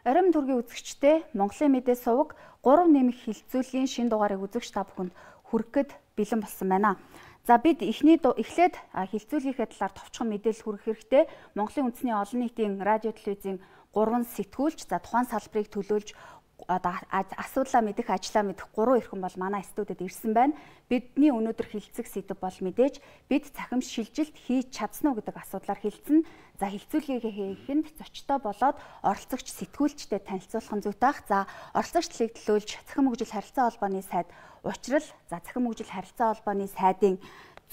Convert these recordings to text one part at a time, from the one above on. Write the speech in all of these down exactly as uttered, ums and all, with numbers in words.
Оройн төргийн үзэгчтэй Монголын мэдээ суваг гурав нэмэх хилцүүлгийн шин дугаарыг үзэгч та бүхэнд хүргэхэд бэлэн болсон байна. За бид эхний эхлээд хилцүүлгийнхээ талаар товчхон мэдээлэл хүргэх хэрэгтэй. Монголын үндэсний олон нийтийн радио телевизийн гурван сэтгүүлч за тухайн салбарыг төлөөлж одоо асуудлаа мэдэх, ажлаа мэдэх гурван эрхэм бол манай студид ирсэн байна. Бидний өнөөдөр хилцэх сэдэв бол мэдээж бид цахим шилжилт хийж чадсан уу гэдэг асуудлаар хилцэн. За хилцүүлгийг хийхэд зочтой болоод оролцогч сэтгүүлчтэй танилцуулах нь зүйтэй ах. За оролцогчдыг төлөөлж цахим хөгжил харилцаа холбооны сайд Учрал, за цахим хөгжил харилцаа холбооны сайдын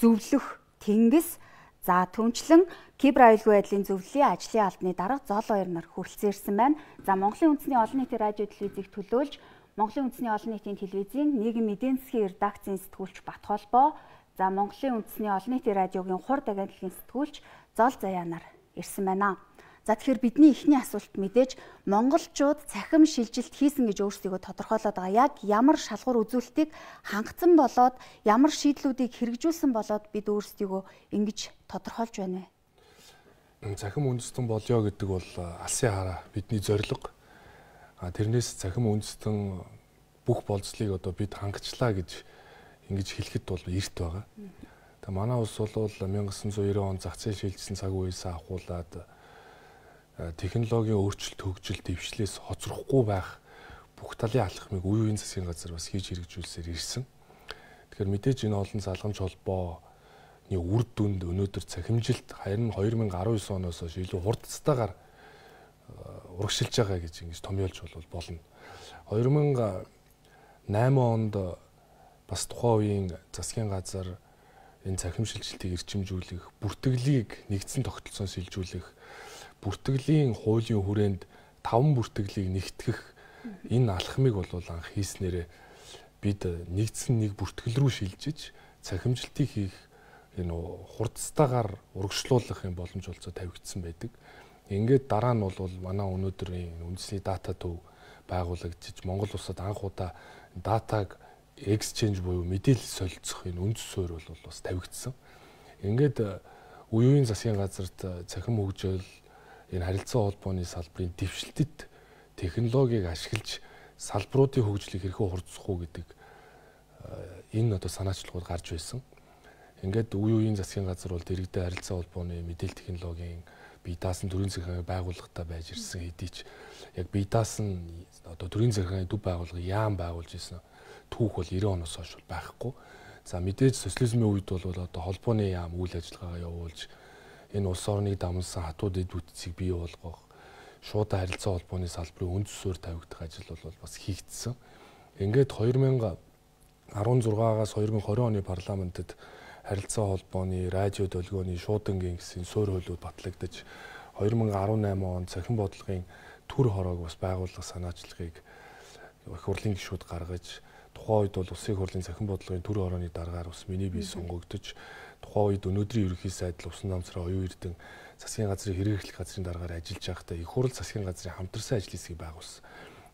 зөвлөх Тэнгис, за түнчлэн Кибер аюулгүй байдлын зөвлөлийн ажлын албаны дарга Зол Баяр нар хүрэлцэн ирсэн байна. За Монголын үндэсний олон нийтийн радио телевизийг төлөөлж Монголын үндэсний олон нийтийн телевизийн нийгэм эдийн засгийн редакцийн сэтгүүлч Бат Холбоо, за Монголын үндэсний олон нийтийн радиогийн хурд агентлагийн сэтгүүлч Зол Заяа нар ирсэн байна. За тэгэхээр бидний эхний асуулт мэдээж монголчууд цахим шилжилт хийсэн гэж өөрсдийгөө тодорхойлоод байгаа. Яг ямар шалгуур үзүүлэлтийг хангацсан болоод ямар шийдлүүдийг хэрэгжүүлсэн болоод бид өөрсдийгөө ингэж тодорхойлж байна вэ? Цахим үндэстэн болёо гэдэг бол алсын хараа бидний зорилго. А тэрнээс цахим үндэстэн бүх болцлыг одоо бид хангацлаа гэж ингэж хэлэхэд бол эрт байгаа. Тэгээ манай улс бол найман девятьсот девяносто он зах зээл шилжсэн цаг үеэс ахуулаад технологийн өөрчлөлт хөгжил дэвшлээс хоцрохгүй байх бүх талын алхмыг үе үеийн засгийн газар бас хийж хэрэгжүүлсээр ирсэн. Тэгэхээр мэдээж энэ олон залгамж холбооны үр дүнд өнөөдөр цахимжилт харин две тысячи десять оноос хойш илүү хурдцтайгаар урагшилж байгаа гэж ингэж томьёолж бол болно. две тысячи восемь онд бас тухайн үеийн засгийн газар энэ цахим шилжилтийг эрчимжүүлэх, бүртгэлийг нэгдсэн тогтолцоос шилжүүлэх, бүртгэлийн хуулийн хүрээнд таван бүртгэлийг нэгтгэх энэ алхмыг бол анх хийснээрээ бид нэгдсэн нэг бүртгэл рүү шилжиж цахимжилтыг хийх энэ хурдцтайгаар урагшлуулах юм боломж олцоо тавигдсан байдаг. Ингээд дараа нь бол манай өнөөдрийн үндэсний дата төв байгуулагдчих Монгол улсад анх удаа датаг exchange буюу мэдээлэл солилцох энэ үндэс суурь бол бас тавигдсан. Ингээд үеийн засгийн газарт цахим хөгжил энэ харилцаа холбооны салбарын дэвшилтэд технологиг ашиглаж салбаруудын хөгжлийг хэрхэн хурдсах уу гэдэг энэ одоо санаачлагууд гарч байсан. Ингээд үе үеийн засгийн газар бол дэргэдээ харилцаа холбооны мэдээлэл технологийн бие даасан төрийн захиргааны байгууллагатай байж ирсэн хэдий ч яг бие даасан одоо төрийн захиргааны төв байгууллага яам байгуулж ирсэн түүх бол девяносто оноос хойш байхгүй. За мэдээж социализмын үед бол одоо холбооны яам үйл ажиллагаагаа явуулж энэ улс орныг дамжсан хатууд эд бүтцийг бий болгох, шууд харилцаа холбооны салбарын үндэс суурь тавигдах ажил бол бас хийгдсэн. Ингээд две тысячи десятаас две тысячи двадцать оны парламентод харилцаа холбооны радио долгионы шуудангийн гэсэн суурь хуулиуд батлагдаж две тысячи десяттой онд цахим бодлогын төр хороог бас байгуулах санаачлагыг их хурлын гишүүд гаргаж тухайн үед бол улсын хурлын цахим бодлогын төр хорооны дараагаар бас миний бие сонгогдож тухайн үед өнөөдрийн ерөнхий сайдл усан намсраа оюун эрдэнэ засгийн газрын хэрэгжлэх газрын дараагаар ажиллаж байхдаа их хурл засгийн газрын хамтарсан ажлын хэсгийг байгуулсан.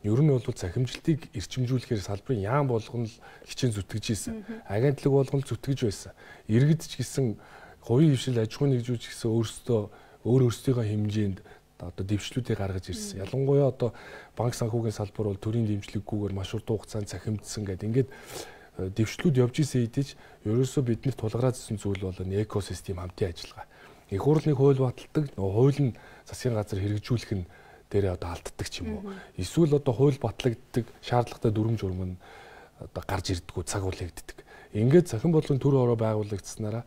Ер нь бол цахимжилтыг эрчимжүүлэхээр салбарын яам болгоно л хичээн зүтгэж ийсэн. Агентлаг болгоно зүтгэж байсан. Иргэд ч гэсэн хувийн хвшил аж ахуйн нэгжүүч гэсэн өөрсдөө өөр өөрсдийнхөө хэмжээнд одоо дэвшлүүдийг гаргаж ирсэн. Ялангуяа одоо банк санхүүгийн салбар бол төрийн дэмжлэггүйгээр маш урт хугацаанд цахимдсан гэдэг. Ингээд дэвшлүүд явж исэн хэдий ч ерөөсөө биднэрт тулгараадсэн зүйл бол энэ экосистем хамтын ажиллагаа. Их хурлын хууль баталдаг, хууль нь засгийн газар хэрэгжүүлэх нь дээрээ одоо алддаг ч юм уу. Эсвэл одоо хууль батлагддаг, шаардлагатай дүрм журм нь одоо гарч ирдэггүй, цагуулагддаг. Ингээд цахим бодлогын төр хороо байгуулагдсанараа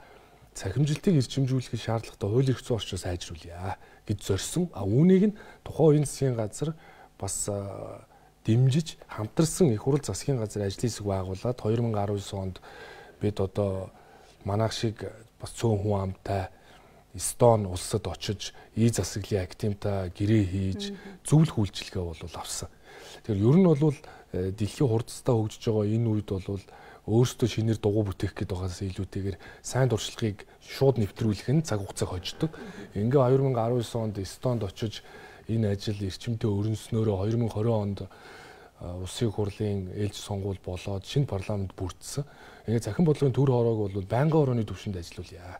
цахимжилтыг эрчимжүүлэх шаардлагатай хууль эрх зүйн орчноо сайжруулъя гэж зорьсон. А үүнийг нь тухайн үеийн засгийн газар бас дэмжиж хамтарсан их хурл засгийн газар ажлын хэсэг байгуулад две тысячи десять онд бид одоо манайх шиг бас цөөн хүн амтай Эстон улсад очиж ий засаглалын активтай гэрээ хийж зөвлөх үйлчилгээ бол авсан. Тэгэхээр ер нь бол дэлхийн хурдцтай хөгжиж байгаа энэ үед бол өөрсдөө шинээр дугуй бүтээх гээд байгаас илүүтэйгээр сайн дуршлагыг шууд нэвтрүүлэх нь цаг хугацааг хождог. Ингээ две тысячи десять онд Эстонд очиж энэ ажил эрчимтэй өрнснөөрөө две тысячи двадцать онд улсын хурлын ээлж сонгуул болоод шинэ парламент бүрдсэн. Ингээ цахим бодлогын төр хороог бол байнгын орооны түвшинд ажиллуулъя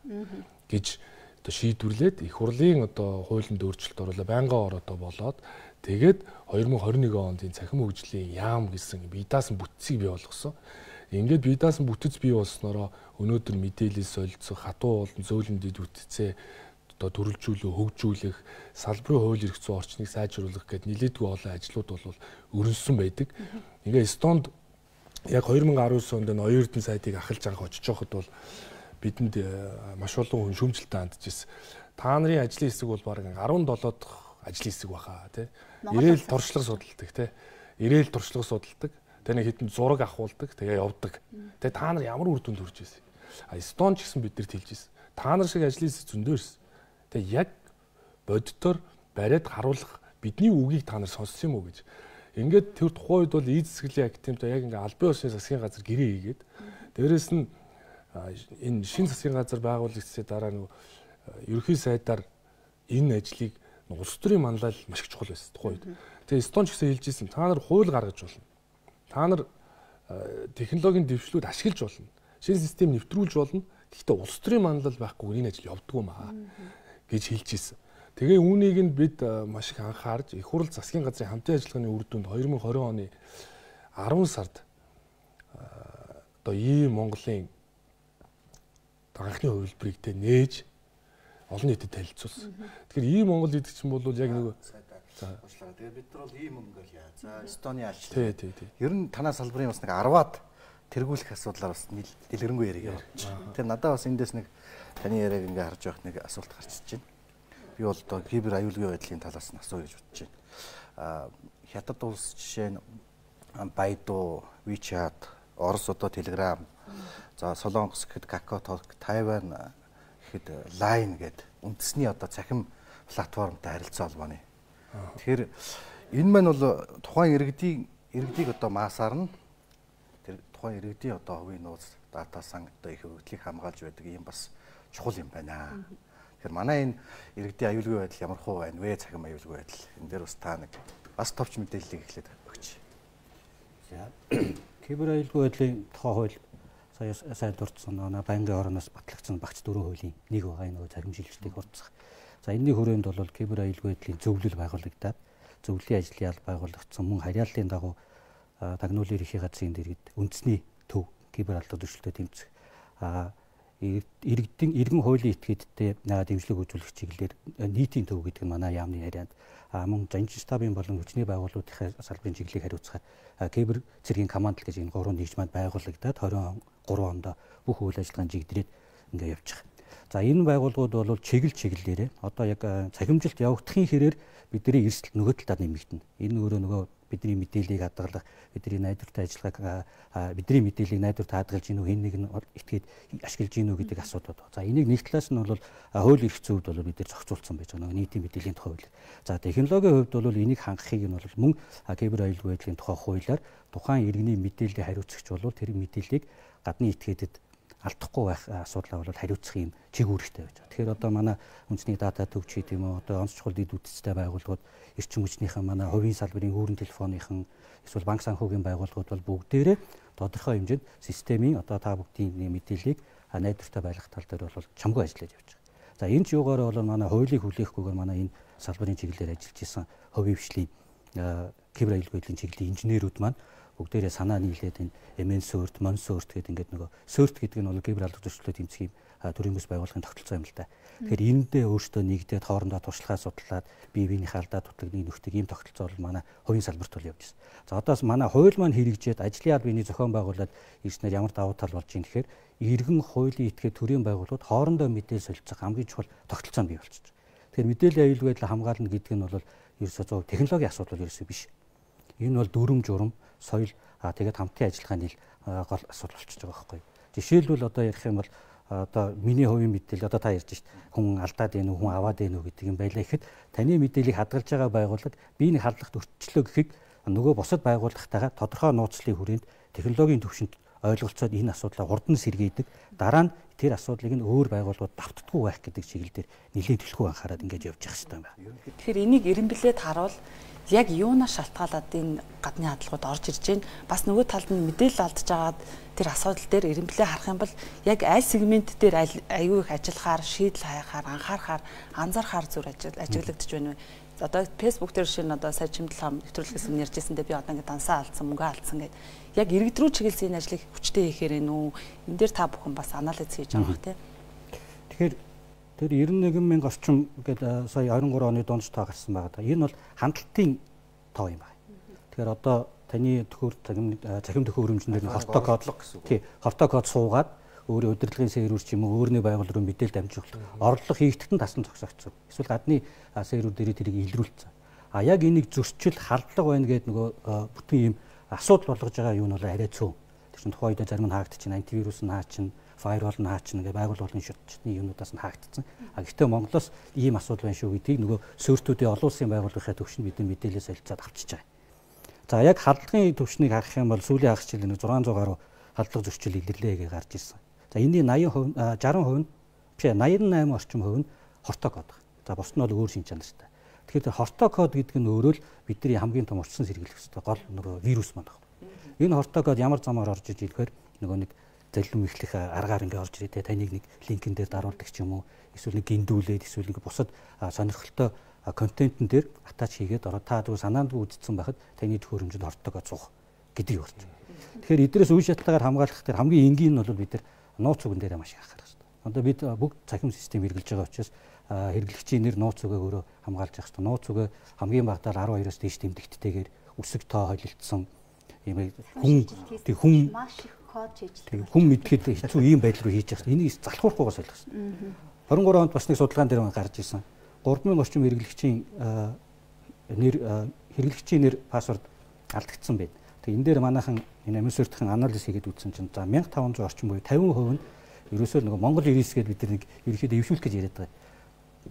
гэж одоо шийдвэрлээд их хурлын одоо хуулинд өөрчлөлт оруулаад байнгын ороо болоод Тэгээд хоёр мың хорин нэгэн онд энэ цахим хөгжлийн яам гэсэн бие даасан бүтцийг бий болгосон. Ингээд бие даасан бүтэц бий болсноороо өнөөдөр мэдээлэл солилцох, хатуу болон зөөлөн дэд бүтцээ одоо төрөлжүүлэх, хөгжүүлэх, салбарын хууль эрх зүйн орчныг сайжруулах гэд нэлээдгүй олон ажлууд бол өрнөсөн байдаг. Ингээ Эстонд яг хоёр мың арван девять онд энэ оюун эрдэнэ сайдыг ахалж анх очиж байхад бол бидэнд маш олон хүн шүүмжлэлтэй хандж ирсэн. Та нарын ажлын хэсэг бол бараг арван долоо дахь ажлын хэсэг баха тий. Ирээл туршлага судалдаг тий. Ирээл туршлага судалдаг. Тэгээ нэг хэдэн зураг авахулдаг, тэгээ явдаг. Тэгээ та нар ямар үр дүнд хүрч ирсэн. А Эстонд ч гэсэн биднэрт хэлж ирсэн. Та нар шиг ажлын хэсэг зөндөө ирсэн. Тэгээ яг боддоор бариад харуулах бидний үгийг та нар сонссон юм уу гэж. Ингээд тэр тухайн үед бол эд засгийн активтай яг ингээ албан ёсны засгийн газар гэрээ хийгээд дээрэс нь энэ шинэ засгийн газар байгуулагдсны дараа нөгөө ерөнхий сайдаар энэ ажлыг улс төрийн манлайлал маш их чухал байсан тухайн үед. Тэгээ Эстонд ч гэсэн хэлж ирсэн та нар хууль гаргаж болно. Та нар технологийн дэвшлүүд ашиглаж болно. Шинэ систем нэвтрүүлж болно. Гэхдээ улс төрийн манлайлал байхгүй энэ ажил явдггүй маа гэж хэлж ирсэн. Тэгээ үүнийг нь бид маш их анхаарж их хурл засгийн газрын хамтын ажиллагааны үр дүнд хоёр мың хорин оны арван сард одоо ийм Монголын анхны хувилбарыг тэ нээж олон нийтэд танилцуулсан. Тэгэхээр ийм Монгол гэдэг чинь бол яг нэг за уучлаарай. Тэгээ бид нар бол ийм юм ингээл яа. За Эстоны алч. Тий, тий, тий. Ер нь танаа салбарын бас нэг арваад тэргүүлэх асуудлаар бас дэлгэрэнгүй яриг явуулчих. Тэр надад бас эндээс нэг таны яриаг ингээ харж явах нэг асуулт гарч ирж байна. Би бол одоо кибер аюулгүй байдлын талаас нь асуу гэж бодож байна. Аа Хятад улс жишээ нь Baidu, WeChat, Орос одоо Telegram, за Солонгос гэхэд Kakao, Тайван гэхэд Line гэдэг үндэсний одоо цахим платформтой харилцаа холбооны. Тэгэхээр энэ маань бол тухайн иргэдийн иргэдийг одоо масаар нь тэр тухайн иргэдийн одоо хувийн нууц дата сан одоо их хөгжлийг хамгаалж байдаг юм бас чухал юм байна. Тэгэхээр манай энэ иргэдийн аюулгүй байдал ямар хуу байна вэ? Цахим аюулгүй байдал. Энэ дээр бас та нэг бас товч мэдээллийг эхлээд өгч. За кибер аюулгүй байдлын тухай хууль сая сайн дурдсан нөө байнгын орноос батлагдсан багц дөрвөн хуулийн нэг байгаа энэ цахим шилжилтийг хурцсах. За энэний хүрээнд бол кибер аюулгүй байдлын зөвлөл байгуулагдаад зөвлөлийн ажлын ял байгуулагдсан мөн харьяаллын дагуу тагнуулын эрхийн газрын дэргэд үндэсний төв кибер алдар зөрчилдөд тэмцэх иргэдийн иргэн хуулийн этгээдтэй дэмжлэг үзүүлэх чиглэлээр нийтийн төв гэдэг нь манай яамны ярианд мөн жанжин штабын болон хүчний байгууллагуудын салбарын чиглэлийг хариуцахад кибер цэргийн команд гэж энэ гурван нэгж манд байгуулагдаад двадцать три онд бүх үйл ажиллагааны чиглэлээр ингээ явчих. За энэ байгууллагууд бол чиглэл чиглэлээрээ одоо яг цахимжилт явагдахын хэрээр бидний эрсдэл нөгөө талаар нэмэгдэнэ. Энэ өөрөө нөгөө бидний мэдээллийг хадгалах, бидний найдвартай ажиллагааг бидний мэдээллийг найдвартай хадгалж гинүү хэн нэг нь этгээд ашиглаж гинүү гэдэг асуудал байна. За энийг нэг талаас нь бол хууль эрх зүйд бол бид нэр зохицуулсан байж байгаа. Нийтийн мэдээллийн тухай хууль. За технологийн хувьд бол энийг хангахыг нь бол мөн кибер аюулгүй байдлын тухай хуулиар тухайн иргэний мэдээллийг хариуцагч бол тэр мэдээллийг гадны этгээдэд алдахгүй байх асуудлаа бол хариуцах юм чиг үүрэгтэй байж байгаа. Тэгэхээр одоо манай үндэсний дата төвч гэдэг юм уу одоо онц чухал дэд үтцтэй байгууллагууд эрчим хүчнийхэн манай хувийн салбарын хүүрэн телефоныхон эсвэл банк санхүүгийн байгууллагууд бол бүгдээрээ тодорхой хэмжээнд системийн одоо та бүгдийн мэдээллийг найдвартай байлгах тал дээр бол чамгүй ажиллаж явж байгаа. За энэ ч юугаар бол манай хуулийг хүлээхгүйгээр манай энэ салбарын чиглэлээр ажиллаж исэн хувийн хвшлийн кибер аюулгүй байдлын чиглэлийн инженерүүд маань бүгдээрээ санаа нийлээд энэ эм эн сөрт, мон сөрт гэдэг ингээд нөгөө сөрт гэдэг нь бол кибер алдар зөрчлөлтөд тэмцэх юм төрийн бүс байгууллагын тогтолцоо юм л да. Тэгэхээр эндээ өөртөө нэгдээд хоорондоо туршлагаа судлаад бие биенийхээ алдаа дутлагыг нөхдөг ийм тогтолцоо бол манай хувийн салбарт бол явж байна. За одоос манай хууль маань хэрэгжээд ажлын албаны зохион байгуулалт ирснээр ямар давуу тал болж байна гэхээр иргэн хуулийн этгээд төрийн байгууллагууд хоорондоо мэдээлэл солилцох хамгийн чухал тогтолцоо бий болчихж байгаа. Тэгэхээр мэдээллийн аюулгүй байдлыг хамгаална гэдэг нь бол ерөөсөө технологийн асуудал ерөөсөө биш. Энэ бол дүрм журам соёл тэгээд хамтын ажиллагааны гол асуудал болчихж байгаа байхгүй. Жишээлбэл одоо ярих юм бол одоо миний хувийн мэдээлэл одоо та ярьж шít хүн алдаад байна уу хүн аваад байна уу гэдэг юм байлаа гэхэд таны мэдээллийг хадгалж байгаа байгууллага би нэг хадгалагт өрчлөө гэхэд нөгөө бусад байгууллагатайгаа тодорхой нууцлалын хүрээнд технологийн төвшөнд ойлголцоод энэ асуудлаа урд нь сэргээдэг дараа нь тэр асуудлыг нь өөр байгууллагууд давтдаггүй байх гэдэг чиглэлээр нэлээд төлхөө анхаарал ингэж явж явах хэрэгтэй байна. Тэгэхээр энийг эренблээд харуул яг юунаас шалтгаалаад энэ гадны хадлагууд орж ирж байна. Бас нөгөө талд нь мэдээлэл алдж байгаад тэр асуудал дээр эренблээ харах юм бол яг аль сегмент дээр аюу их ажиллахаар, шийдэл хайхаар, анхаарахаар, анзаарахаар зүр ажиглагдж байна вэ? одоо Facebook дээр шинэ одоо сая чимдэл нэвтрүүлгээс өмнө ярьжсэндээ би одоо ингээд дансаа алдсан, мөнгө алдсан гэдэг. Яг иргэд рүү чиглэсэн энэ ажлыг хүчтэй хийхээр ээ нүү. Энэ дээр та бүхэн бас анализ хийж байгаа бах тий. Тэгэхээр тэр девяносто один мянга орчим гэдэг сая двадцать три оны дунд тоо гарсан байгаа да. Энэ бол хандлтын тоо юм байна. Тэгэхээр одоо таны төхөөр захим төхөөр хөрөмжнөр нь хортой кодлог гэсэн үг. Тий, хортой код суугаад өөрийн удирдлагын сервер ч юм уу өөрний байгуул руу мэдээлэл дамжуулах орлого хийгдэхэд нь тасн зогсоогдсон. Эсвэл гадны сервер дээр тэрийг илрүүлсэн. А яг энийг зөрчил хардлага байна гэдэг нөгөө бүтэн юм асуудал болгож байгаа юу нь бол арай цөөн. Тэр чинь тухайн үед зарим нь хаагдчихна, антивирус нь хаачин, фаервол нь хаачин ингээ байгуул болон шүтчний юмнуудаас нь хаагдсан. А гэхдээ Монголоос ийм асуудал байна шүү гэдгийг нөгөө сөртүүдийн олон улсын байгууллагын төвшөнд бидний мэдээлэл солилцоод авчиж байгаа. За яг хадлагын төвшнийг харах юм бол сүүлийн хагас жилийн шестьсот гаруй хадлага зөрчил илэрлээ гэж гарч ирсэн. За энэний восемьдесят хувь шестьдесят хувь нь биш восемьдесят восемь орчим хувь нь хортой код. За бус нь бол өөр шин чанартай. Тэгэхээр хортой код гэдэг нь өөрөө л бидний хамгийн том урьдчилан сэргийлэх ёстой гол нөгөө вирус маань байна. Энэ хортой код ямар замаар орж иж ирэхээр нөгөө нэг заллим ихлэх аргаар ингээ орж ирээ те таныг нэг линкэн дээр даруулдаг ч юм уу эсвэл нэг гиндүүлээд эсвэл нэг бусад сонирхолтой контентн дээр атач хийгээд ороо та дүү санаанд үзсэн байхад таны төхөөрөмжөнд хортой код суух гэдэг юм байна. Тэгэхээр эдрээс үе шатлагаар хамгаалах дээр хамгийн энгийн нь бол бид нар нууц үгэн дээр маш их анхаарах хэрэгтэй. Одоо бид бүгд цахим систем хэрэгжилж байгаа учраас хэрэглэгчийн нэр нууц үгээ өөрөө хамгаалж явах хэрэгтэй. Нууц үгээ хамгийн багадаар арван хоёроос дээш тэмдэгттэйгээр өсөг тоо холилдсон юм хүн тэг хүн маш их код хийж хүн мэдхэд хэцүү ийм байдал руу хийж байгаа. Энийг залхуурахгүйгээс ойлгох хэрэгтэй. двадцать три онд бас нэг судалгаан дээр гарч ирсэн. гурван мянган орчим хэрэглэгчийн нэр хэрэглэгчийн нэр пассворд алдагдсан байна. Тэгээ энэ дээр манайхан энэ амьсвартын анализ хийгээд үзсэн чинь за мянга таван зуун орчим буюу тавин хувь нь ерөөсөө нөгөө Монгол ирээс гээд бид нар нэг ерөөхдөө эвшүүлэх гэж яриад байгаа.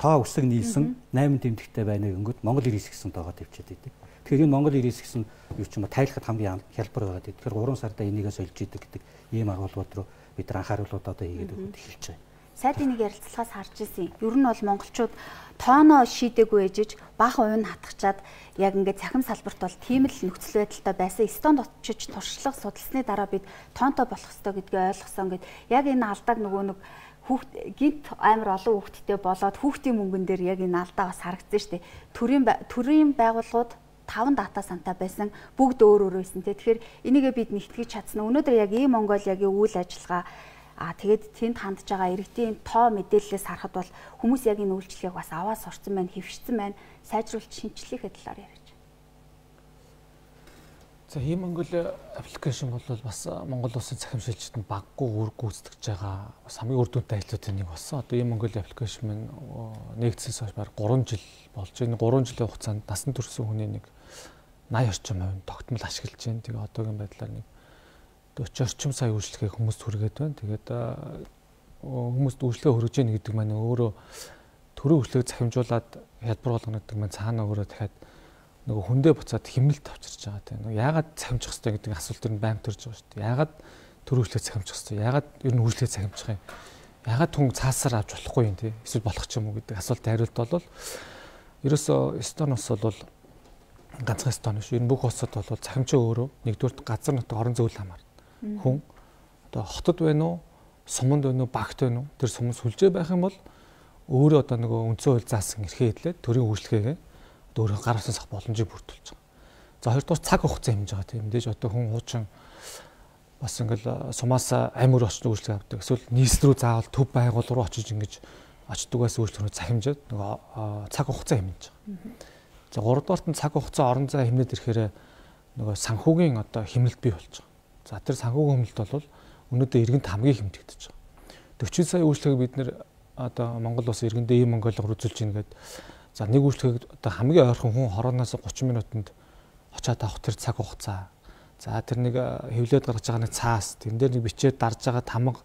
Тоо өсөг нийлсэн восемь тэмдэгтэй байна гингүүд Монгол ирээс гэсэн тоогоо тавьчихад байдаг. Тэгэхээр энэ Монгол ирээс гэсэн юу ч юм ба тайлахад хамгийн хялбар байгаа. Тэгэхээр гурван сарда энийгээ сольж идэг гэдэг ийм агуулгууд руу бид нар анхааруулууд одоо хийгээд өгөх эхэлж байгаа. Сайдын нэг ярилцлагаас харж ирсэн. Ер нь бол монголчууд тооноо шийдээгүй ээжиж бага уйн хатгачаад яг ингээд цахим салбарт бол тийм л нөхцөл байдалтай байсан. Эстонд очиж туршлага судалсны дараа бид тоонтой болох ёстой гэдгийг ойлгосон. Гэд яг энэ алдааг нөгөө нэг хүүхд гинт амар олон хүүхдтэй болоод хүүхдийн мөнгөн дээр яг энэ алдаа бас харагдсан шүү дээ. Төрийн төрийн байгууллагууд таван дата сантай байсан. Бүгд өөр өөр байсан те. Тэгэхээр энийгээ бид нэгтгэж чадсан. Өнөөдөр яг ийм Монголиагийн үйл ажиллагаа А тэгээд тэнд хандж байгаа иргэдийн тоо мэдээллээс харахад бол хүмүүс яг энэ үйлчлэгийг бас аваад сурцсан байна, хэвшсэн байна, сайжруулж шинчлэхээ талаар ярьж. За ийм Монгол аппликейшн бол бас Монгол улсын цахим шилжилтэнд баггүй үр гүйцэтгэж байгаа бас хамгийн үр дүнтэй ажлуудын нэг болсон. Одоо ийм Монгол аппликейшн маань нэгдсэнээс хойш бараг гурван жил болж байна. гурван жилийн хугацаанд насан турш хүний нэг восемьдесят орчим хувь тогтмол ашиглаж байна. Тэгээ одоогийн байдлаар нэг forty орчим сая үйлчлэгээ хүмүүст хүргээд байна. Тэгээд хүмүүст үйлчлэгээ хүргэж яах гэдэг маань өөрөө төрийн үйлчлэгийг захимжуулаад хялбар болгоно гэдэг маань цаана өөрөө дахиад нөгөө хүндээ буцаад хэмнэлт авчирч байгаа тийм. Яагаад захимжих хэрэгтэй гэдэг асуулт төр нь байнг төрж байгаа шүү дээ. Яагаад төрийн үйлчлэгийг захимжих хэрэгтэй? Яагаад ер нь үйлчлэгийг захимжих юм? Яагаад түн цаасаар авч болохгүй юм те? Эсвэл болох ч юм уу гэдэг асуултын хариулт бол ерөөсөө Эстониос бол ганцхан Эстони шүү. Энэ бүх улсад бол захимжаа өөрөө нэгдүгээр газар нутаг орон зөөл хамаар хүн одоо хотод байна уу, суманд байна уу, багт байна уу? Тэр сум сүлжээ байх юм бол өөрөө одоо нөгөө үндсэн хууль заасан эрхээ хэдлээд төрийн үйлчлэгээ өөрөө гар утсан сах боломжийг бүрдүүлж байгаа. За хоёрдугаар цаг хугацаа хэмжиж байгаа тийм мэдээж одоо хүн хуучин бас ингээл сумаас амир очиж үйлчлэг авдаг. Эсвэл нийслэл рүү заавал төв байгуул руу очиж ингэж очдгоос үйлчлэгрөө захимжаад нөгөө цаг хугацаа хэмжиж байгаа. За гуравдугаарт нь цаг хугацаа орон зай хэмнээд ирэхээр нөгөө санхүүгийн одоо хэмнэлт бий болж байгаа. За тэр санхүүгийн хэмнэлт бол өнөөдөр иргэнд хамгийн хэмжигдэж байгаа. forty сая үйлчлэгийг бид нэр одоо Монгол улс иргэндээ ийм Монголоор үзүүлж ийн гэдэг. За нэг үйлчлэгийг одоо хамгийн ойрхон хүн хорооноос thirty минутанд очиад авах тэр цаг хугацаа. За тэр нэг хэвлээд гаргаж байгаа нэг цаас, тэн дээр нэг бичээд дарж байгаа тамга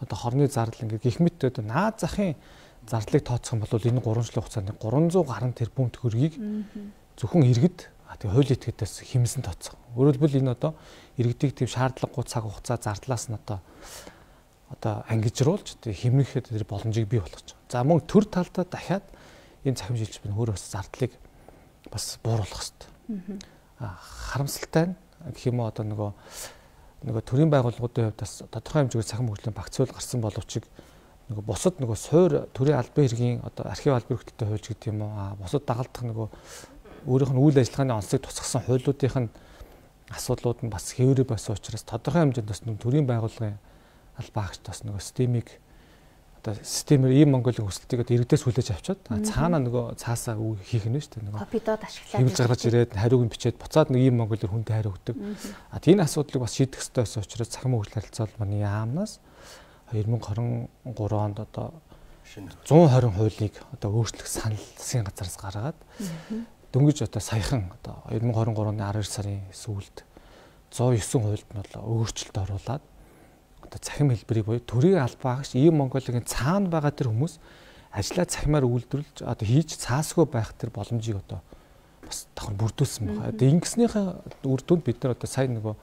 одоо хорны зардал ингээд гих мэт одоо наад захын зардлыг тооцох юм бол энэ гурван жилийн хугацаанд three hundred гаруй тэрбум төгрөгийг зөвхөн иргэд тэг хууль этгээдээс хэмсэн тооцох. Өөрөөр хэлбэл энэ одоо иргэдийг тийм шаардлагагүй цаг хугацаа зардлаас нь одоо одоо ангижруулж тэг хэмнэхэд тэр боломжийг бий болгож байгаа. За мөн төр талдаа дахиад энэ цахим шилжилт өөрөө бас зардлыг бас бууруулах хэрэгтэй. Аа харамсалтай нь гэх юм уу одоо нөгөө нөгөө төрийн байгууллагуудын хувьд бас тодорхой хэмжээгээр цахим хөгжлийн багцуул гарсан боловч нөгөө бусад нөгөө суур төрийн албан хэргийн одоо архив албан хөлтөй хуульч гэдэг юм уу а бусад дагалдах нөгөө өөрийнх нь үйл ажиллагааны онцлог тусгасан хуулиудын асуудлууд нь бас хэврээ байсан учраас тодорхой хэмжээнд бас нөгөө төрийн байгууллагын албан хаагч бас нөгөө системийг одоо системээр ийм Монголын хүсэлтийг одоо иргэдээс хүлээж авчаад цаана нөгөө цаасаа хийх нь шүү дээ нөгөө копидод ашиглаад хэвлэж гаргаж ирээд хариуг нь бичээд буцаад нэг ийм Монголоор хүнтэй хариу өгдөг. А тийм асуудлыг бас шийдэх хэрэгтэй байсан учраас цахим хөгжил харилцаа холбооны яамнаас две тысячи двадцать три онд одоо one twenty хуулийг одоо өөрчлөх санал засгийн газараас гаргаад дөнгөж одоо саяхан одоо две тысячи двадцать три оны twelve сарын сүүлд one oh nine хуульд нь бол өөрчлөлт оруулаад одоо цахим хэлбэрийг буюу төрийн албан хаагч ийм Монголын цаана байгаа тэр хүмүүс ажлаа цахимаар үйлдвэрлэж одоо хийж цаасгүй байх тэр боломжийг одоо бас давхар бүрдүүлсэн байна. Одоо ингэснийхээ үр дүнд бид нар одоо сайн нөгөө